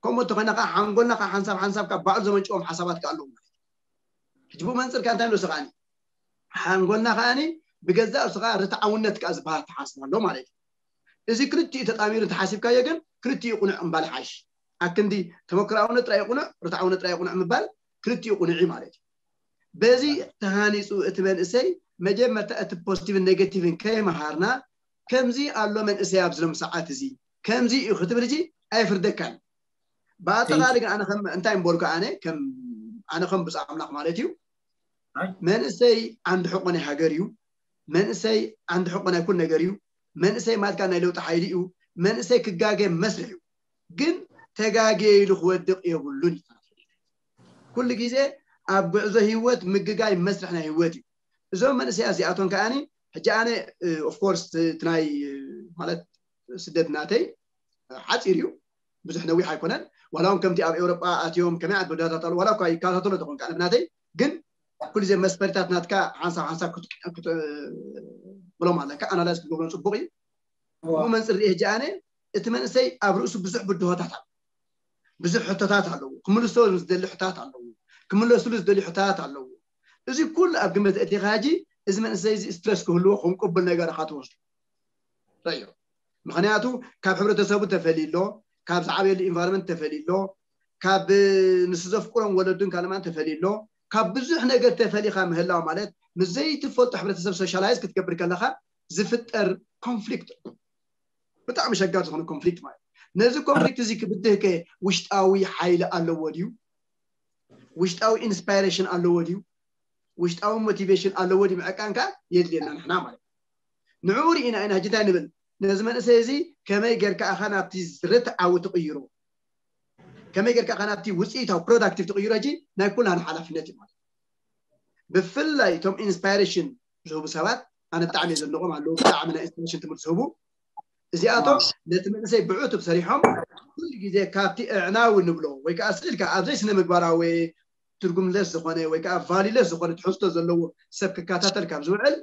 ከምኡ እንተኾይና ከዓ ሓንጎልና ከዓ ሓንሳብ ሓንሳብ ካብ ባዕሉ ዘመንጭዎም ሓሳባት ከ ኣለዎ ማለት እዩ። ሕጂ ብኡ መንፅር ከ እንታይ ንወስድ ከዓኒ ሓንጎልና ከዓኒ ብገዛእ ርእሱ ከዓ ርትዓውነት ከዓ ዝበሃል ተሓስብ ኣሎ ማለት እዩ። እዚ ክልቲኡ ተጣሚሩ እንተሓሲብካዮ ግን ክልቲኡ ቅኑዕ እምባል ሓይሽ። ኣክንዲ ተመክሮኣውነት ጥራይ ቅኑዕ፣ ርትዓውነት ጥራይ ቅኑዕ ምባል ክልቲኡ ቅኑዕ እዩ ማለት እዩ። በዚ ተሃኒፁ እቲ መንእሰይ መጀመርታ እቲ ፖዚቲቭን ኔጌቲቭን ከይመሃርና ከምዚ ኣሎ መንእሰይ ኣብዚ ሎም ሰዓት እዚ ከምዚ እዩ ክትብል እዚ ኣይፍርደካን። ብኣጠቓሊ ግን ኣነ ከም እንታይ እምበልኩ ኣነ ከም ኣነ ከም ብፁዕ ኣምላኽ ማለት እዩ መንእሰይ ዓንዲ ሕቆ ናይ ሃገር እዩ። መንእሰይ ዓንዲ ሕቆ ናይ ኩል ነገር እዩ። መንእሰይ ማለትካ ናይ ለውጢ ሓይሊ እዩ። መንእሰይ ክጋገ መስርሕ እዩ። ግን ተጋግየ ኢሉ ክወድቕ የብሉን እዩ። ኩሉ ግዜ ኣብ ጉዕዞ ህይወት ምግጋይ መስርሕ ናይ ህይወት እዩ። እዞም መንእሰያት እዚኣቶም ከዓኒ ሕጂ ኣነ ኦፍኮርስ እቲ ናይ ማለት ስደት ናተይ ሓፂር እዩ፣ ብዙሕ ነዊሕ ኣይኮነን። ዋላ እውን ከምቲ ኣብ ኤውሮጳ ኣትዮም ከመይ ዓይነት በዳታት ኣለዉ ዋላ እኳ ይከታተሎ ተኾን ከዓነ ብናተይ ግን ኩሉ ግዜ መስፈሪታት ናትካ ሓንሳብ ሓንሳብ ክትብሎም ኣለካ ኣናላይዝ ክትገብሮም ፅቡቅ እዩ። ብኡ መንፅር ሪኤ ሕጂ ኣነ እቲ መንእሰይ ኣብ ርእሱ ብዙሕ ብድሆታት ኣሎ፣ ብዙሕ ሕቶታት ኣለዉ፣ ክምልሶ ዝደሊ ሕቶታት ኣለዉ፣ ክምለስሉ ዝደሊ ሕቶታት ኣለዉ። እዚ ኩሉ ኣብ ግምት እቲ ካጂ እዚ መንእሰይ እዚ ስትረስ ክህልዎ ከም ቅቡል ነገር ኢኻ ትወስዱ። ረዮ ምክንያቱ ካብ ሕብረተሰቡ ተፈልዩ ኣሎ፣ ካብ ዝዓበየሉ ኢንቫይሮንመንት ተፈልዩ ኣሎ፣ ካብ ንሱ ዘፍቅሮም ወለዱን ካልማን ተፈልዩ ኣሎ። ካብ ብዙሕ ነገር ተፈሊኻ ምህላው ማለት ምስ ዘይትፈልጦ ሕብረተሰብ ሶሻላይዝ ክትገብር ከለኻ ዝፍጠር ኮንፍሊክት ብጣዕሚ ሸጋር ዝኾነ ኮንፍሊክት ማለት ነዚ ኮንፍሊክት እዚ ክብድህከ ውሽጣዊ ሓይሊ ኣለዎ ድዩ? ውሽጣዊ ኢንስፓይሬሽን ኣለዎ ድዩ? ውሽጣዊ ሞቲቬሽን ኣለዎ ድዩ ምዕቃን ከ የድልየና ንሕና ማለት ንዕኡ ርኢና ኢና ሕጂ እንታይ ንብል ነዚ መንእሰይ እዚ ከመይ ጌርካ ኢኻ ናብቲ ርትዓዊ ትቕይሮ ከመይ ጌርካ ኢኻ ናብቲ ውፅኢታዊ ፕሮዳክቲቭ ትቕይሮ ሕጂ ናይ ኩላን ሓላፍነት እዩ ማለት ብፍላይ እቶም ኢንስፓይሬሽን ዝህቡ ሰባት ኣነ ብጣዕሚ ዘድንቆም ኣለዉ ብጣዕሚ ናይ ኢንስፓይሬሽን ትምህርቲ ዝህቡ እዚኣቶም ነቲ መንእሰይ ብዕቱብ ሰሪሖም ኩሉ ግዜ ካብቲ ኣዕናዊ ንብሎ ወይ ከዓ ስእልካ ኣብዘይ ስነ ምግባራዊ ትርጉምለስ ዝኾነ ወይ ከዓ ቫሊለስ ዝኾነ ትሕዝቶ ዘለዎ ሰብ ክከታተል ካብ ዝውዕል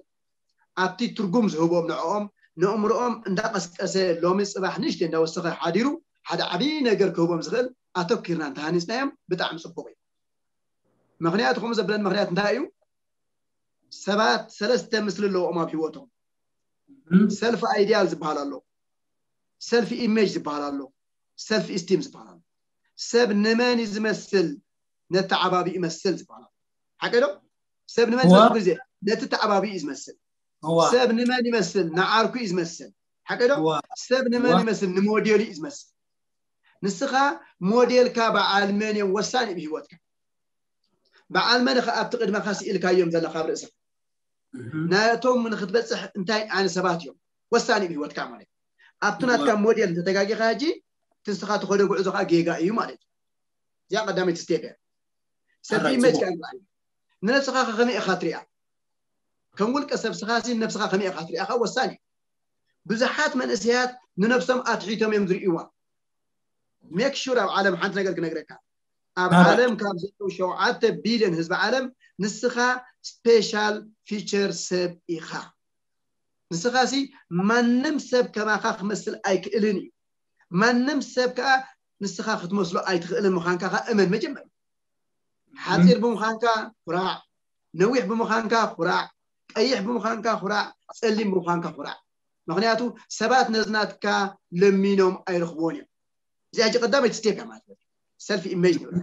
ኣብቲ ትርጉም ዝህቦም ንዕኦም ንእምርኦም እንዳቀስቀሰ ሎሚ ፅባሕ ንእሽተይ እንዳወሰኸ ሓዲሩ ሓደ ዓብዪ ነገር ክህቦም ዝኽእል ኣተኪርና እንተሃኒፅናዮም ብጣዕሚ ፅቡቅ እዩ። ምክንያቱ ከምኡ ዘብለን ምክንያት እንታይ እዩ? ሰባት ሰለስተ ምስሊ ኣለዎም ኣብ ህይወቶም። ሰልፍ ኣይዲያል ዝበሃል ኣሎ፣ ሰልፍ ኢሜጅ ዝበሃል ኣሎ፣ ሰልፍ ኢስቲም ዝበሃል ኣሎ። ሰብ ንመን እዩ ዝመስል? ነተዓባቢ ይመስል ዝበሃል ኣሎ። ሓቂ ዶ? ሰብ ንመን ዝበል ግዜ ነቲ ተዓባቢ እዩ ዝመስል። ሰብ ንመን ይመስል? ንዓርኩ እዩ ዝመስል። ሓቂ ዶ? ሰብ ንመን ይመስል? ንሞዴሉ እዩ ዝመስል። ንስኻ ሞዴልካ በዓል መን እዮም ወሳኒ ብህይወትካ በዓል መን ኸ ኣብቲ ቅድመኻ ስኢልካዮም ዘለኻ ኣብ ርእስኻ ናቶም ንክትበፅሕ እንታይ ዓይነት ሰባት እዮም ወሳኒ ብህይወትካ ማለት ኣብቲ ናትካ ሞዴል እንተተጋጊኻ ሕጂ ትንስኻ ትኸዶ ጉዕዞ ከዓ ጌጋ እዩ ማለት እዩ። እዚኣ ቀዳመይቲ ስቴፕ እያ። ሰልፊ ኢሜጅ ከዓ ንነብስኻ ከመይ ኢኻ ትሪኣ ከም ውልቀ ሰብ ስኻ ነብስኻ ከመይ ኢኻ ትሪኣ ከዓ ወሳኒ እዩ። ብዙሓት መንእሰያት ንነብሶም ኣትሒቶም እዮም ዝርእይዋ። ሜክ ሹር ኣብ ዓለም ሓንቲ ነገር ክነግረካ ኣብ ዓለም ካብ ዘለዉ ሸውዓተ ቢልዮን ህዝቢ ዓለም ንስኻ ስፔሻል ፊቸር ሰብ ኢኻ። ንስኻ ሲ ማንም ሰብ ከማኻ ክመስል ኣይክእልን እዩ። ማንም ሰብ ከዓ ንስኻ ክትመስሎ ኣይትኽእልን ምዃንካ ከዓ እመን መጀመርያ። ሓፂር ብምዃንካ ኩራዕ፣ ነዊሕ ብምዃንካ ኩራዕ፣ ቀይሕ ብምዃንካ ኩራዕ፣ ፀሊም ብምዃንካ ኩራዕ። ምክንያቱ ሰባት ነዚ ናትካ ለሚኖም ኣይረኽብዎን እዮም። እዚኣ ሕጂ ቀዳመይቲ ስቴፕ እያ ማለት እዩ። ሰልፍ ኢሜጅ ንብሎ።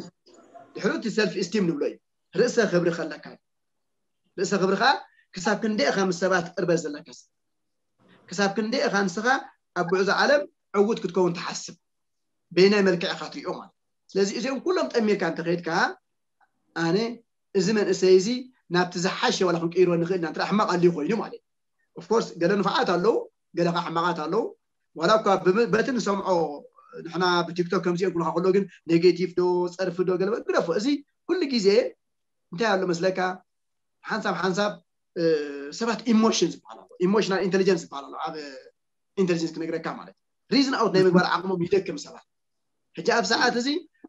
ድሕሪ እቲ ሰልፍ ኢስቲም ንብሎ እዩ። ርእሰ ክብሪ ከለካ እዩ። ርእሰ ክብሪ ከዓ ክሳብ ክንደይ ኢኻ ምስ ሰባት ቅርበት ዘለካ ሰብ ክሳብ ክንደይ ኢኻ ንስኻ ኣብ ጉዕዞ ዓለም ዕዉት ክትከውን ትሓስብ በይናይ መልክዕ ኢኻ ትሪኦ ማለት ስለዚ እዚኦም ኩሎም ጠሚርካ እንተኸይድካ ኣነ እዚ መንእሰይ እዚ ናብቲ ዝሓሸ ዋላ ክንቅይሮ ንኽእል ኢና እንተ ሕማቕ ኣልዩ ኮይኑ ማለት ኦፍኮርስ ገለ ንፋዓት ኣለዉ ገለ ከዓ ሕማቓት ኣለዉ ዋላ እኳ በቲ ንሰምዖ ንሕና ብቲክቶክ ከምዚኦም ክብሉካ ከሎ ግን ኔጌቲቭ ዶ ፀርፊ ዶ ገለ ግደፎ እዚ ኩሉ ግዜ እንታይ ኣሎ መስለካ ሓንሳብ ሓንሳብ ሰባት ኢሞሽን ዝበሃል ኣሎ ኢሞሽናል ኢንቴሊጀንስ ዝበሃል ኣሎ ኣብ ኢንቴሊጀንስ ክነግረካ ማለት ሪዝን ኣውት ናይ ምግባር ዓቕሞም ይደክም ሰባት ሕጂ ኣብ ሰዓት እዚ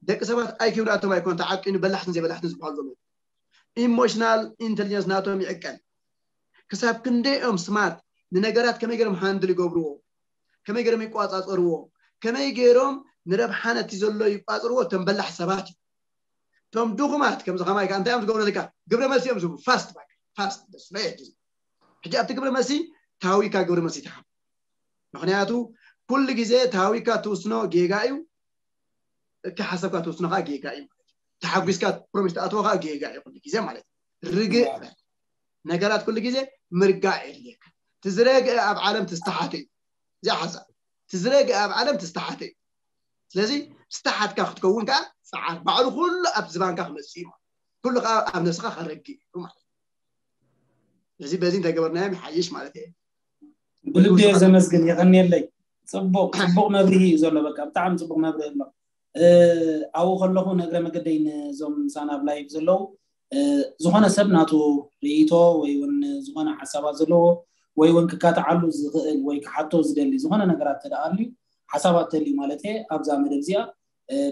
ደቂ ሰባት ኣይኪው ናቶም ኣይኮን ተዓቂኑ በላሕትን ዘይበላሕትን ዝበሃሉ ዘለዉ ኢሞሽናል ኢንቴሊጀንስ ናቶም ይዕቀን። ክሳብ ክንደይኦም ስማርት፣ ንነገራት ከመይ ገይሮም ሃንድል ይገብርዎ፣ ከመይ ገይሮም ይቋፃፀርዎ፣ ከመይ ገይሮም ንረብሓ ነቲ ዘሎ ይቋፅርዎ። እቶም በላሕ ሰባት እዩ። እቶም ድኹማት ከምዚ ከማይ ከዓ እንታይ እዮም ዝገብሩ? ለካ ግብረ መልሲ እዮም ዝህቡ። ፋስት ባክ ፋስት ደስ ናይ ሕጂ ሕጂ ኣብቲ ግብረ መልሲ ታዊካ ግብረ መልሲ ትሃብ። ምክንያቱ ኩሉ ግዜ ታዊካ ትውስኖ ጌጋ እዩ። እቲ ሓሳብካ ትውስኖ ከዓ ጌጋ እዩ ማለት እዩ። ተሓጒስካ ፕሮሚስ ትኣትዎ ከዓ ጌጋ እዩ ኩሉ ግዜ ማለት እዩ። ርግእ በል። ነገራት ኩሉ ግዜ ምርጋእ የድልየካ። ትዝረግአ ኣብ ዓለም ትስተሓተ እዩ። እዚኣ ሓሳብ ትዝረግአ ኣብ ዓለም ትስተሓተ እዩ። ስለዚ ዝተሓትካ ክትከውን ከዓ ፀዓር ባዕሉ ኩሉ ኣብ ዝባንካ ክመፅእ እዩ ማለት ኩሉ ከዓ ኣብ ነብስካ ከረግእ እዩ ማለት ስለዚ በዚ እንተገበርናዮም ይሓይሽ ማለት እየ። ብልቢ እየ ዘመስግን። የቐንየለይ። ፅቡቅ ፅቡቅ መብርሂ እዩ ዘሎ። በቃ ብጣዕሚ ፅቡቅ መብርሂ ኣሎ። ኣብኡ ከለኹ ንእግረ መገደይ ንዞም ምሳና ኣብ ላይቭ ዘለዉ ዝኾነ ሰብ ናቱ ርእይቶ ወይ እውን ዝኾነ ሓሳባት ዘለዎ ወይ እውን ክካትዓሉ ዝኽእል ወይ ክሓቶ ዝደሊ ዝኾነ ነገራት ተደኣልዩ ሓሳባት ተልዩ ማለት እየ ኣብዛ መደብ እዚኣ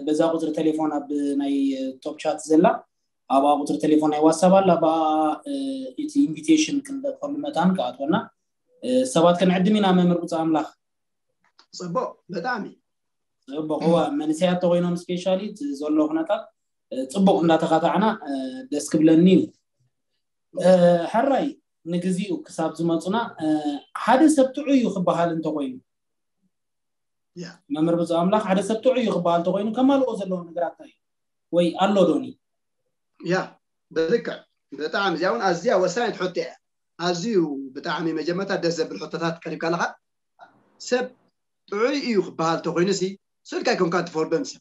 በዛ ቁፅሪ ቴሌፎን ኣብ ናይ ቶፕ ቻት ዘላ ኣብኣ ቁፅሪ ቴሌፎን ናይ ዋትሳፕ ኣላ ብኣ እቲ ኢንቪቴሽን ክንደፈሉ መታን ክኣትወና ሰባት ክንዕድም ኢና መምህር ብፁዕ ኣምላኽ ፅቡቅ ብጣዕሚ ፅቡቅ እዋ መንእሰያት ተኮይኖም ስፔሻሊ ዘሎ ኩነታት ፅቡቅ እንዳተካታዕና ደስ ክብለኒ እዩ ሕራይ ንግዚኡ ክሳብ ዝመፁና ሓደ ሰብ ጥዑይ እዩ ክበሃል እንተኮይኑ መምህር ብፁዕ ኣምላኽ ሓደ ሰብ ጥዑይ እዩ ክበሃል እንተኮይኑ ከማልኦ ዘለዎ ነገራት እንታይ እዩ ወይ ኣሎ ዶኒ ያ ብልክዕ ብጣዕሚ እዚኣ እውን ኣዝያ ወሳኒት ሕቶ እያ ኣዝዩ ብጣዕሚ መጀመርታ ደስ ዘብል ሕቶታት ቀሪብካ ኣለካ ሰብ ጥዑይ እዩ ክበሃል እንተኮይኑ ሲ ስልካ ኣይኮንካ ትፈርዶን ሰብ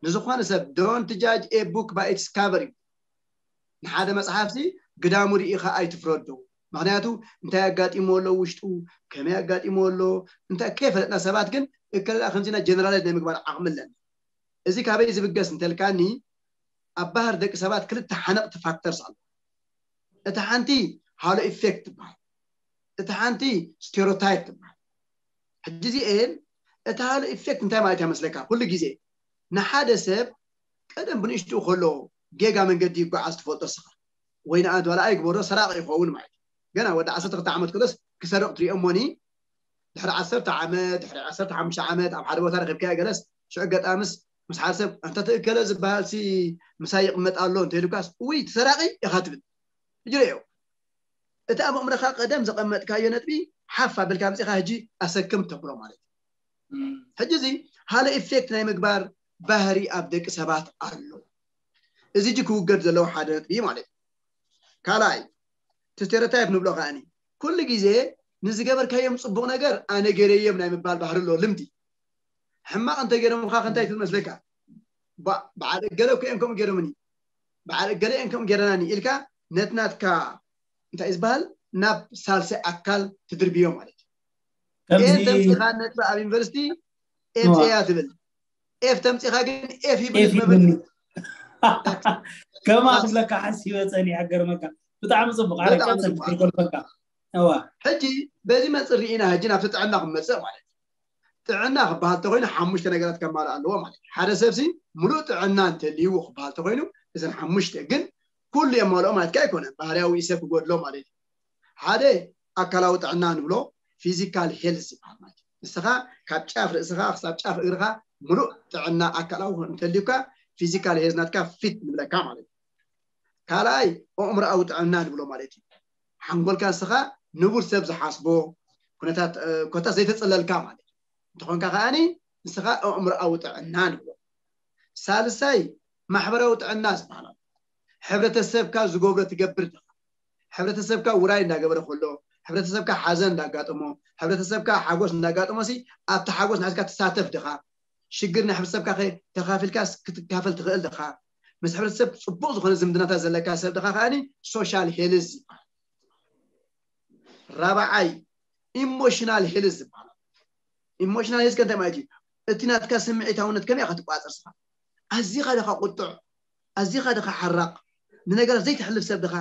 ንዝኾነ ሰብ don't judge a book by its cover እዩ ንሓደ መፅሓፍ ሲ ግዳሙ ርኢኻ ኣይትፍረዶ ምክንያቱ እንታይ ኣጋጢሞ ኣሎ ውሽጡ ከመይ ኣጋጢሞ ኣሎ እንታይ ከይፈለጥና ሰባት ግን እከለላ ከምዚና ጀነራላይዝ ናይ ምግባር ዓቕሚ ኣለና እዚ ካበይ ዝብገስ እንተልካኒ ኣብ ባህር ደቂ ሰባት ክልተ ሓነቕቲ ፋክተርስ ኣሎ እቲ ሓንቲ ሃሎ ኢፌክት ትበሃል እቲ ሓንቲ ስቴሮታይፕ ትበሃል ሕጂ እዚኤን እቲ ሃሎ ኢፌክት እንታይ ማለት እያ መስለካ ኩሉ ግዜ ንሓደ ሰብ ቀደም ብንእሽትኡ ከሎ ጌጋ መንገዲ ይጓዓዝ ትፈልጦ ስኻ ወይ ንኣንት ዋላ ኣይግበሮ ሰራቂ ይኸውን ማለት እዩ ገና ወዲ ዓሰርተ ክልተ ዓመት ከሎስ ክሰርቕ ትሪኦ እሞኒ ድሕሪ ዓሰርተ ዓመት ድሕሪ ዓሰርተ ሓሙሽተ ዓመት ኣብ ሓደ ቦታ ረኺብካዮ ገለስ ሽዑ ገጣምስ ምስ ሓደ ሰብ እንተ ትእከለ ዝበሃል ሲ ምሳይ ይቕመጥ ኣሎ እንተ ኢሉካስ ውይ ትሰራቂ ኢኻ ትብል ሕጂ ርእዮ እቲ ኣብ ኣእምሮኻ ቀደም ዘቐመጥካዮ ነጥቢ ሓፍ ኣበልካ ኣምፂኻ ሕጂ ኣሰክም ተብሎ ማለት እዩ ሕጂ እዚ ሃለ ኢፌክት ናይ ምግባር ባህሪ ኣብ ደቂ ሰባት ኣሎ እዚ ጂ ክውገድ ዘለዎ ሓደ ነጥቢ ማለት እዩ ካልኣይ እቲ ስቴረታይፕ ንብሎ ከኣኒ ኩሉ ግዜ ንዝገበርካዮም ፅቡቕ ነገር ኣነ ገይረዮም ናይ ምባል ባህሪ ኣሎ ልምዲ ሕማቕ እንተ ገይሮምካ ከንታይ ትብል መስለካ በዓል እገለ እኮ እዮም ከምኡ ገይሮምኒ በዓል እገለ እዮም ከምኡ ገይረናኒ ኢልካ ነቲ ናትካ እንታይ ዝበሃል ናብ ሳልሳይ ኣካል ትድርብዮ ማለት እዩ ኤን ተምፂኻ ነጥቢ ኣብ ዩኒቨርሲቲ ኤምፅያ ትብል ኤፍ ተምፂኻ ግን ኤፍ ይብል መብል ከማ ክብለካ ሓሲበ ፀኒሐ ገርመካ ብጣዕሚ ፅቡቅ ኣረቀፅልጎልፈካ ሕጂ በዚ መፅእ ርኢና ሕጂ ናብቲ ጥዕና ክመፅእ ማለት ጥዕና ክበሃል ተኮይኑ ሓሙሽተ ነገራት ከማልእ ኣለዎ ማለት ሓደ ሰብሲ ሙሉእ ጥዕና እንተልይዎ ክበሃል ተኮይኑ እዘን ሓሙሽተ ግን ኩሉ የማልኦ ማለት ኣይኮነን ባህርያዊ ሰብ ክጎድሎ ማለት ሓደ ኣካላዊ ጥዕና ንብሎ ፊዚካል ሄልዝ ዝበሃል ማለት እዩ ንስኻ ካብ ጫፍ ርእስኻ ክሳብ ጫፍ እግርኻ ሙሉእ ጥዕና ኣካላዊ እንተልዩካ ፊዚካል ሄልዝ ናትካ ፊት ንብለካ ማለት እዩ ካልኣይ ኣእምሮኣዊ ጥዕና ንብሎ ማለት እዩ ሓንጎልካ ንስኻ ንቡር ሰብ ዝሓስቦ ኩነታት ኮታ ዘይተፀለልካ ማለት እዩ እንተኾንካ ከዓኒ ንስኻ ኣእምሮኣዊ ጥዕና ንብሎ ሳልሳይ ማሕበራዊ ጥዕና ዝበሃል ሕብረተሰብካ ዝገብሮ ትገብር ዲኻ ሕብረተሰብካ ውራይ እንዳገበረ ከሎ ሕብረተሰብካ ሓዘን እንዳጋጠሞ ሕብረተሰብካ ሓጎስ እንዳጋጠሞ ሲ ኣብቲ ሓጎስ ንሕዝካ ትሳተፍ ዲኻ ሽግር ናይ ሕብረተሰብካ ተኻፊልካ ክትካፈል ትኽእል ዲኻ ምስ ሕብረተሰብ ፅቡቕ ዝኾነ ዝምድናታት ዘለካ ሰብ ዲኻ ከዓኒ ሶሻል ሄልዝ ይበሃል ራብዓይ ኢሞሽናል ሄልዝ ዝበሃል ኢሞሽናል ሄልዝ ከንታይ ማለት እዩ እቲ ናትካ ስምዒታውነት ከመይ ኢኻ ትቋፀር ስኻ ኣዚኻ ዲኻ ቁጡዕ ኣዚኻ ዲኻ ሓራቕ ንነገራት ዘይትሕልፍ ሰብ ዲኻ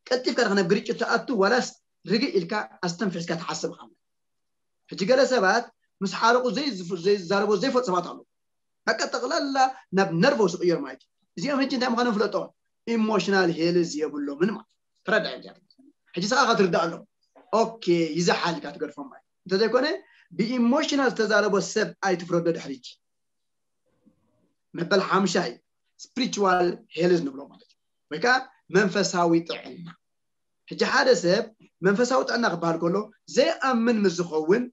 ቀልጢፍካ ዲኻ ናብ ግርጭት ትኣቱ ዋላስ ርግእ ኢልካ ኣስተንፊሕካ ትሓስብ ኢኻ ሕጂ ገለ ሰባት ምስ ሓረቑ ዘይዛረቦ ዘይፈልጡ ሰባት ኣለዉ በቃ ጠቕላላ ናብ ነርቨስ ይቕየር ማለት እዩ። እዚኦም ሕጂ እንታይ ምዃኖም ፍለጦም። ኢሞሽናል ሄልዝ የብሎምን ማለት እዩ። ተረዳእ። ሕጂ ስኻ ክትርዳእ ኣለዎ። ኦኬ፣ ይዘሓል ኢልካ ትገድፎም ማለት እዩ። እንተዘይኮነ ብኢሞሽናል ዝተዛረቦ ሰብ ኣይትፍረዶ። ድሕሪ ሕጂ መበል ሓምሻይ ስፒሪቹዋል ሄልዝ ንብሎ ማለት እዩ። ወይ ከዓ መንፈሳዊ ጥዕና። ሕጂ ሓደ ሰብ መንፈሳዊ ጥዕና ክበሃል ከሎ ዘይኣምን ምስ ዝኸውን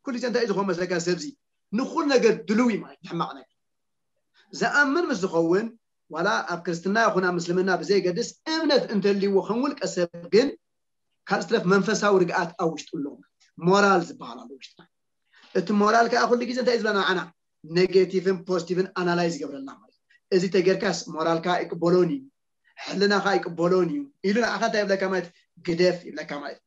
ኩሉ ግዜ እንታይ እዩ ዝኸውን መስለካ? ሰብዚ ንኩሉ ነገር ድልው እዩ ማለት ሕማቕ ነገር ዝኣምን ምስ ዝኸውን ዋላ ኣብ ክርስትና ይኹን ኣብ ምስልምና ብዘይገድስ እምነት እንተልይዎ ከም ውልቀ ሰብ ግን ካብ ዝትረፍ መንፈሳዊ ርግኣት ኣብ ውሽጡ ኣሎ። ሞራል ዝበሃል ኣሎ ውሽጥና። እቲ ሞራል ከዓ ኩሉ ግዜ እንታይ እዩ ዝብለና ንዓና? ኔጌቲቭን ፖዚቲቭን ኣናላይዝ ይገብረልና ማለት እዩ። እዚ ተጌርካስ ሞራልካ ይቅበሎን እዩ፣ ሕልናኻ ይቅበሎን እዩ ኢሉ ንዓኻ እንታይ ይብለካ ማለት ግደፍ ይብለካ ማለት እዩ።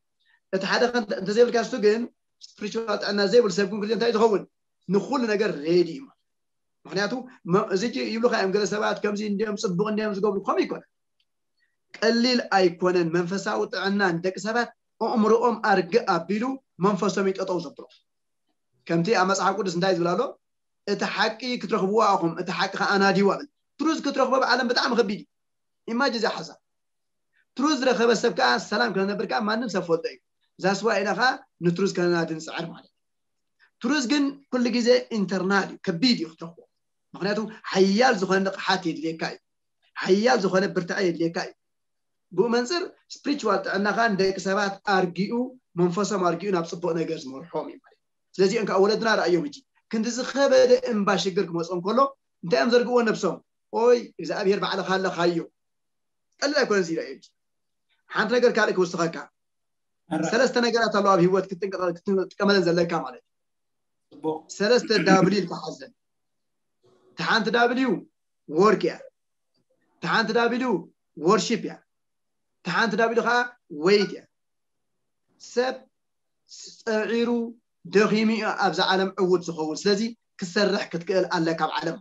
እቲ ሓደ ከ እንተ- እንተዘይብልካ እሱ ግን ስፕሪቹዋል ጥዕና ዘይብሉ ሰብ ግን ግዜ እንታይ ዝኸውን ንኩሉ ነገር ሬዲ እዩ ማለት ምክንያቱ መ- እዚ ጂ- ይብሉካ እዮም ገለ ሰባት ከምዚ እንዲዮም ፅቡቅ እንዲዮም ዝገብሩ ከምኡ ይኮነ ቀሊል ኣይኮነን መንፈሳዊ ጥዕና ንደቂ ሰባት ኣእምሮኦም ኣርግእ ኣቢሉ መንፈሶም ይጠጠው ዘብሎ ከምቲ ኣብ መፅሓፍ ቅዱስ እንታይ ዝብል ኣሎ እቲ ሓቂ ክትረኽብዎ ኣኹም እቲ ሓቂ ከዓ ኣናዲዋ ብል ትሩዝ ክትረኽቦ ኣብ ዓለም ብጣዕሚ ከቢድ እዩ ኢማጅ እዚኣ ሓሳብ ትሩዝ ዝረኸበ ሰብ ከዓ ሰላም ከነብር ከዓ ማንም ሰብ ፈልጦ እዩ ዛስዋ ኢና ከዓ ንትሩዝ ከነናዲ ንፅዕር ማለት እዩ ትሩዝ ግን ኩሉ ግዜ ኢንተርናል እዩ ከቢድ እዩ ክትረኽቦ ምክንያቱ ሓያል ዝኾነ ንቕሓት የድልየካ እዩ ሓያል ዝኾነ ብርትዐ የድልየካ እዩ ብኡ መንፅር ስፕሪቹዋል ጥዕናኻ ንደቂ ሰባት ኣርጊኡ መንፈሶም ኣርጊኡ ናብ ፅቡቅ ነገር ዝመርሖም እዩ ማለት ስለዚኦም ከዓ ወለድና ረኣዮም እጂ ክንዲ ዝኸበደ እምባ ሽግር ክመፅኦም ከሎ እንታይ እዮም ዘርግዎ ነብሶም ኦይ እግዚኣብሔር ባዕልኻ ኣለኻዮ ቀልል ኣይኮነን እዚ ረኣዮ እጂ ሓንቲ ነገር ካልእ ክውስኸካ ሰለስተ ነገራት ኣለዋ ኣብ ህይወት ክትጥቀመለን ዘለካ ማለት እዩ ሰለስተ ዳብሊው ኢልካ ሓዘን እቲ ሓንቲ ዳብሊው ወርክ እያ እቲ ሓንቲ ዳብሊው ወርሺፕ እያ እቲ ሓንቲ ዳብሊው ከዓ ወይት እያ ሰብ ፀዒሩ ደኺሙ እዩ ኣብዚ ዓለም ዕውት ዝኸውን ስለዚ ክሰርሕ ክትክእል ኣለካ ኣብ ዓለም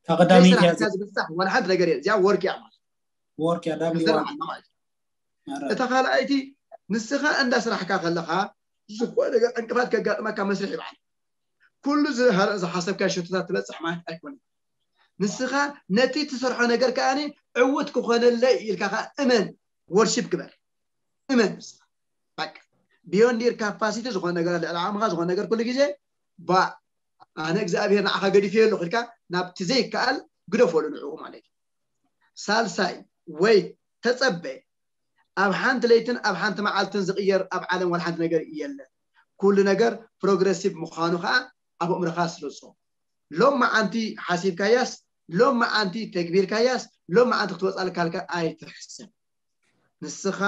ተቀዳሚት እያ ስራሕካ ዝብፃሕ ዋላ ሓንቲ ነገር የለ እዚኣ ወርክ እያ ማለት ወርክ እያ ዳብሊው ክንሰርሕ ኣለና ማለት እዩ እታ ካልኣይቲ ንስኻ እንዳ ስራሕካ ከለኻ ዝኾነ ነገር ዕንቅፋት ከጋጥመካ መስርሕ ይበሃል ኩሉ ዝሓሰብካ ሸቶታት ትበፅሕ ማለት ኣይኮነን ንስኻ ነቲ ትሰርሖ ነገር ከዓ ዕውት ክኾነለይ ኢልካ ከዓ እመን ወርሺፕ ግበር እመን ንስኻ beyond your capacity ዝኾነ ነገር ልዕሊ ዓቕምኻ ዝኾነ ነገር ኩሉ ግዜ ባ ኣነ እግዚኣብሔር ንዓኻ ገዲፈዮ ኣለኹ ኢልካ ናብቲ ዘይከኣል ግደፈሉ ንዕኡ ማለት እዩ ሳልሳይ ወይ ተፀበ ኣብ ሓንቲ ለይትን ኣብ ሓንቲ መዓልትን ዝቕየር ኣብ ዓለም ዋላ ሓንቲ ነገር የለን ኩሉ ነገር ፕሮግረሲቭ ምዃኑ ከዓ ኣብ ኣእምሮኻ ስርፆ ሎም መዓንቲ ሓሲብካያስ ሎም መዓንቲ ተግቢርካያስ ሎም መዓንቲ ክትወፃልካልካ ኣይትሕሰብ ንስኻ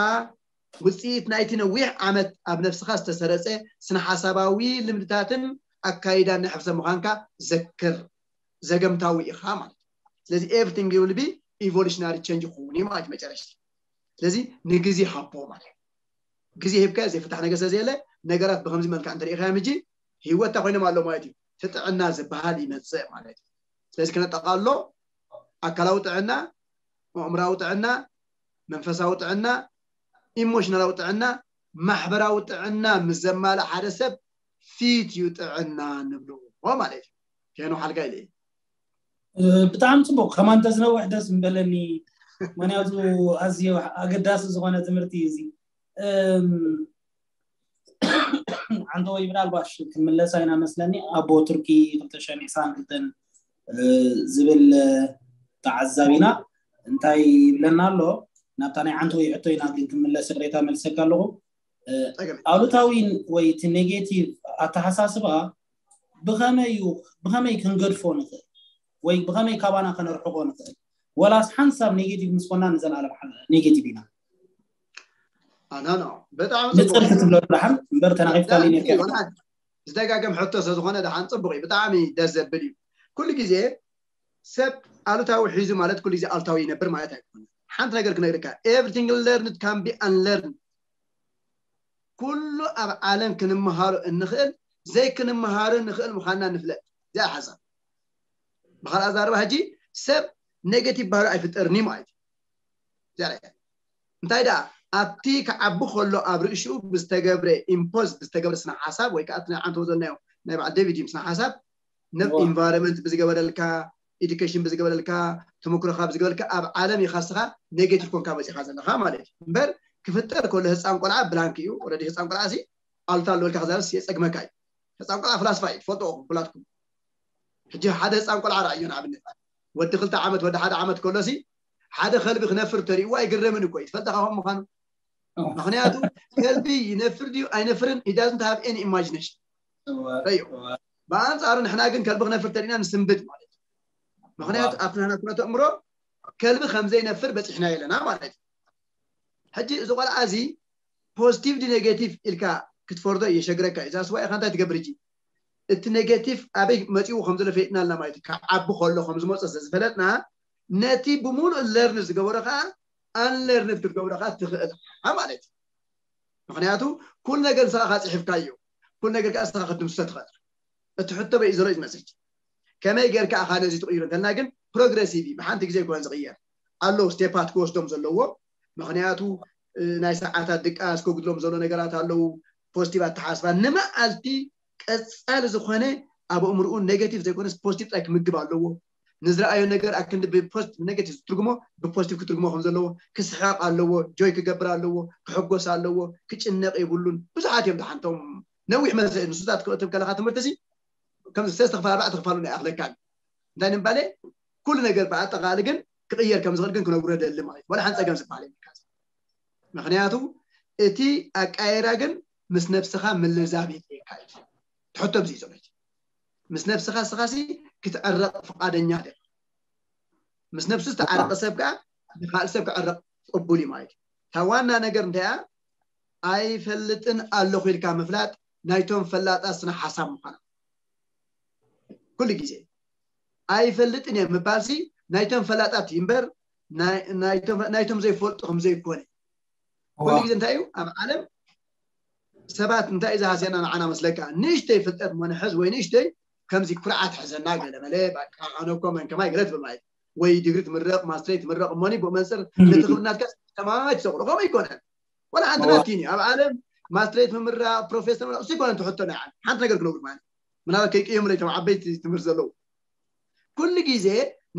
ውፅኢት ናይቲ ነዊሕ ዓመት ኣብ ነብስኻ ዝተሰረፀ ስነ ሓሳባዊ ልምድታትን ኣካይዳን ናይ ሕብረተሰብ ምዃንካ ዘክር ዘገምታዊ ኢኻ ማለት እዩ ስለዚ everything will be evolutionary change ክኸውን እዩ ማለት መጨረሽቲ ስለዚ ንግዜ ሃቦ ማለት እዩ ግዜ ሂብካ ዘይፍታሕ ነገር ስለዘየለ ነገራት ብከምዚ መልክዕ እንተሪኢኻዮም ሕጂ ህይወት ኮይኖም ኣሎ ማለት እዩ ትጥዕና ዝበሃል ይመፅእ ማለት እዩ ስለዚ ክነጠቃሎ ኣካላዊ ጥዕና ኣእምራዊ ጥዕና መንፈሳዊ ጥዕና ኢሞሽናላዊ ጥዕና ማሕበራዊ ጥዕና ምስ ዘማልእ ሓደ ሰብ ፊት እዩ ጥዕና ንብልዎ ማለት እዩ ሄኖ ሓልካ ኢለ ብጣዕሚ ፅቡቅ ከማን ተዝነውሕ ደስ ምበለኒ ምክንያቱ ኣዝዮ ኣገዳሲ ዝኾነ ትምህርቲ እዩ እዚ ሓንተ ወይ ምናልባሽ ክንምለሳ ኢና መስለኒ ኣቦ ቱርኪ ክልተ ሽሕን ዕስራን ክልተን ዝብል ተዓዛቢና እንታይ ይብለና ኣሎ ናብታ ናይ ዓንተ ወይ ሕቶ ኢና ግን ክምለስ ቅሬታ መልሰካ ኣለኹ ኣሉታዊ ወይ እቲ ኔጌቲቭ ኣተሓሳስባ ብኸመይ እዩ ብኸመይ ክንገድፎ ንኽእል ወይ ብኸመይ ካባና ከነርሕቆ ንኽእል ወላስ ሓንሳብ ኔጌቲቭ ምስ ኮና ንዘለኣለም ኔጌቲቭ ኢና ኣናና በጣም ንፅር ክትብሎ ደሓን እምበር ተናቂፍካ ኔርካ ዝደጋገም ሕቶ ስለዝኾነ ደሓን ፅቡቅ እዩ ብጣዕሚ ደስ ዘብል እዩ ኩሉ ግዜ ሰብ ኣሉታዊ ሒዙ ማለት ኩሉ ግዜ ኣሉታዊ ይነብር ማለት ኣይኮነ ሓንቲ ነገር ክነግርካ everything learned can be unlearned ኩሉ ኣብ ዓለም ክንመሃሮ እንኽእል ዘይክንመሃሮ ንኽእል ምዃንና ንፍለጥ እዚኣ ሓሳብ ብካልኣ ዛረባ ሕጂ ሰብ ኔጌቲቭ ባህሪ ኣይፍጠርኒ ማለት እዩ እንታይ ደኣ ኣብቲ ክዓቢ ከሎ ኣብ ርእሽኡ ብዝተገብረ ኢምፖዝ ብዝተገብረ ስነ ሓሳብ ወይ ከዓ ናይ ዓንተው ዘለናዮ ናይ በዓል ዴቪድ እዩ ስነ ሓሳብ environment ብዝገበረልካ፣ education ብዝገበረልካ፣ ተመክሮኻ ብዝገበረልካ ኣብ ዓለም ኢኻ ንስኻ negative ኮንካ መፂኻ ዘለኻ ማለት እዩ። እምበር ክፍጠር ከሎ ህፃን ቆልዓ blank እዩ። Already ህፃን ቆልዓ ሲ ኣሉታ ኣለወልካ ክዛረብስ የፀግመካ እዩ። ህፃን ቆልዓ ፍላስፋ እዩ፣ ትፈልጥዎ ኩላትኩም። ሕጂ ሓደ ህፃን ቆልዓ ረኣዮ ንኣብነት፣ ወዲ ክልተ ዓመት ወዲ ሓደ ዓመት ከሎሲ ሓደ ከልቢ ክነፍር ተሪእዎ ኣይግረምን እኮ እዩ። ትፈልጠ ካብ ምዃኑ ምክንያቱ ከልቢ ይነፍር ድዩ ኣይነፍርን he doesn't have any imagination። ረዮ። ብኣንፃሩ ንሕና ግን ከልቢ ክነፍር ተሪእና ንስንብድ ማለት እዩ። ምክንያቱ ኣብቲ ናህና ኩነተ እምሮ ከልቢ ከምዘይነፍር በፂሕና የለና ማለት እዩ። ሕጂ እዚ ቆልዓ እዚ positive ድዩ negative ኢልካ ክትፈርዶ የሸግረካ እዩ። እዛ ስዋ ኢኻ እንታይ ትገብር ሕጂ? እቲ negative ኣበይ መፂኡ ከም ዘሎ ፈሊጥና ኣለና ማለት እዩ። ካብ ዓቢ ከሎ ከም ዝመፀ ስለዝፈለጥና ነቲ ብምሉእ learn ዝገበሮ ከዓ unlearn ክትገብሮ ከዓ ትኽእል ኢኻ ማለት እዩ። ምክንያቱ ኩሉ ነገር ንስኻ ጽሒፍካዮ፣ ኩሉ ነገር ከዓ ንስኻ ክትድምስሶ ትኽእል። እቲ ሕቶ በይ ዘሎ እዩ ዝመስል። ከመይ ጌርካ ኢኻ ነዚ ትቕይሮ እንተልና ግን progressive እዩ፣ ብሓንቲ ግዜ ኣይኮነን ዝቕየር። ኣለዉ ስቴፓት ክወስዶም ዘለዎ። ምክንያቱ ናይ ሰዓታት ድቃስ ከጉድሎም ዘሎ ነገራት ኣለዉ። positive ኣተሓስባ ንመዓልቲ ቀጻሊ ዝኾነ ኣብ ኣእምርኡ negative ዘይኮነስ positive ጥራይ ክምግብ ኣለዎ። ንዝረኣዮ ነገር ኣክንዲ ብፖዚቲቭ negative ዝትርጉሞ ብፖዚቲቭ ክትርጉሞ ከም ዘለዎ፣ ክስሕቕ ኣለዎ፣ joy ክገብር ኣለዎ፣ ክሕጎስ ኣለዎ። ክጭነቕ የብሉን። ብዙሓት እዮም ደሓንቶም ነዊሕ መዘ ንሱታት ክትብ ከለካ ትምህርቲ ሲ ከም ሰለስተ ክፋል ኣርባዕተ ክፋሉ ናይ ኣኽለካ። እንታይ ንምባለ ኩሉ ነገር ብኣጠቓሊ ግን ክቕየር ከም ዝኽእል ግን ክነግሮ ደሊ ማለት ወላ ሓን ጸገም ዝበሃል የብልካ። ምክንያቱ እቲ ኣቃየራ ግን ምስ ነብስኻ ምልዛብ የድልየካ እዩ። ትሕቶ ብዚ ዘሎ ምስ ነብስኻ ስኻሲ ክትዕረቕ ፍቓደኛ ደ ምስ ነብሱ ዝተዓረቀ ሰብ ከዓ ንካልእ ሰብ ክዕረቕ ቅቡል እዩ ማለት እዩ። እታ ዋና ነገር እንታይ እያ? ኣይፈልጥን ኣለኹ ኢልካ ምፍላጥ ናይቶም ፈላጣት ስነ ሓሳብ ምዃና ኩሉ ግዜ ኣይፈልጥን እየ ምባልሲ ናይቶም ፈላጣት እዩ እምበር ናይቶም ዘይፈልጡ ከም ዘይኮነ ኩሉ ግዜ እንታይ እዩ ኣብ ዓለም ሰባት እንታይ እዩ ዝሃስየና ንዓና መስለካ ንእሽተይ ፍልጠት እሞ ንሕዝ ወይ ንእሽተይ ከምዚ ኩርዓት ሕዘና ገለ መለ ኣነ እኮ መን ከማይ ገለ ትብል ማለት ወይ ዲግሪ ትምረቕ ማስትሬት ትምረቕ እሞኒ ብኡ መንፅር ነቲ ክብርናትካ ሰማይ ትሰቕሎ ከምኡ ኣይኮነን ወላ ሓንቲ ናትኪን እዩ ኣብ ዓለም ማስትሬት ምምራቕ ፕሮፌሰር ምምራቕ እሱ ይኮነን ትሕቶ ናይ ዓለም ሓንቲ ነገር ክነግሩ ማለት ምናልባት ከይቅየሙለይ ቶም ዓበይቲ ትምህርቲ ዘለዉ ኩሉ ግዜ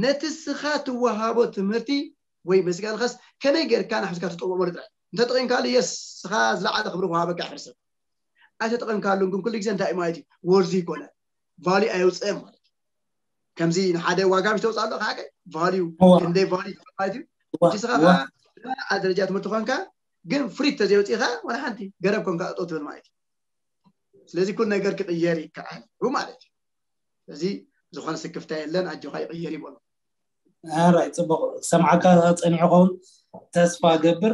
ነቲ ስኻ ትወሃቦ ትምህርቲ ወይ መሲጋልኻስ ከመይ ጌርካ ናሕዝካ ትጠቕመሉ ጥራይ እንተጠቒምካሉ የስ ስኻ ዝለዓለ ክብሪ ክወሃበካ ይሕር ሰብ ኣይተጠቐምካሉን ግን ኩሉ ግዜ እንታይ እዩ ማለት እዩ ወርዚ ይኮነ ቫልዩ ኣየውፅእን ማለት እዩ ከምዚ ንሓደ ዋጋ ምሽ ተውፅእ ኣሎ ከዓ ቫልዩ ክንደይ ቫልዩ ማለት እዩ እቲ ስኻ ከዓ ኣብ ደረጃ ትምህርቲ ኮንካ ግን ፍሪት ተዘይወፂእካ ዋላ ሓንቲ ገረብ ኮንካ እጦ ትብል ማለት እዩ ስለዚ ኩሉ ነገር ክቕየር ይከኣል ማለት እዩ ስለዚ ዝኾነ ስክፍታ የለን ኣጆኻ ይቕየር ይበሉ ራይ ፅቡቅ ሰምዓካ ፀኒዑ ኸውን ተስፋ ገብር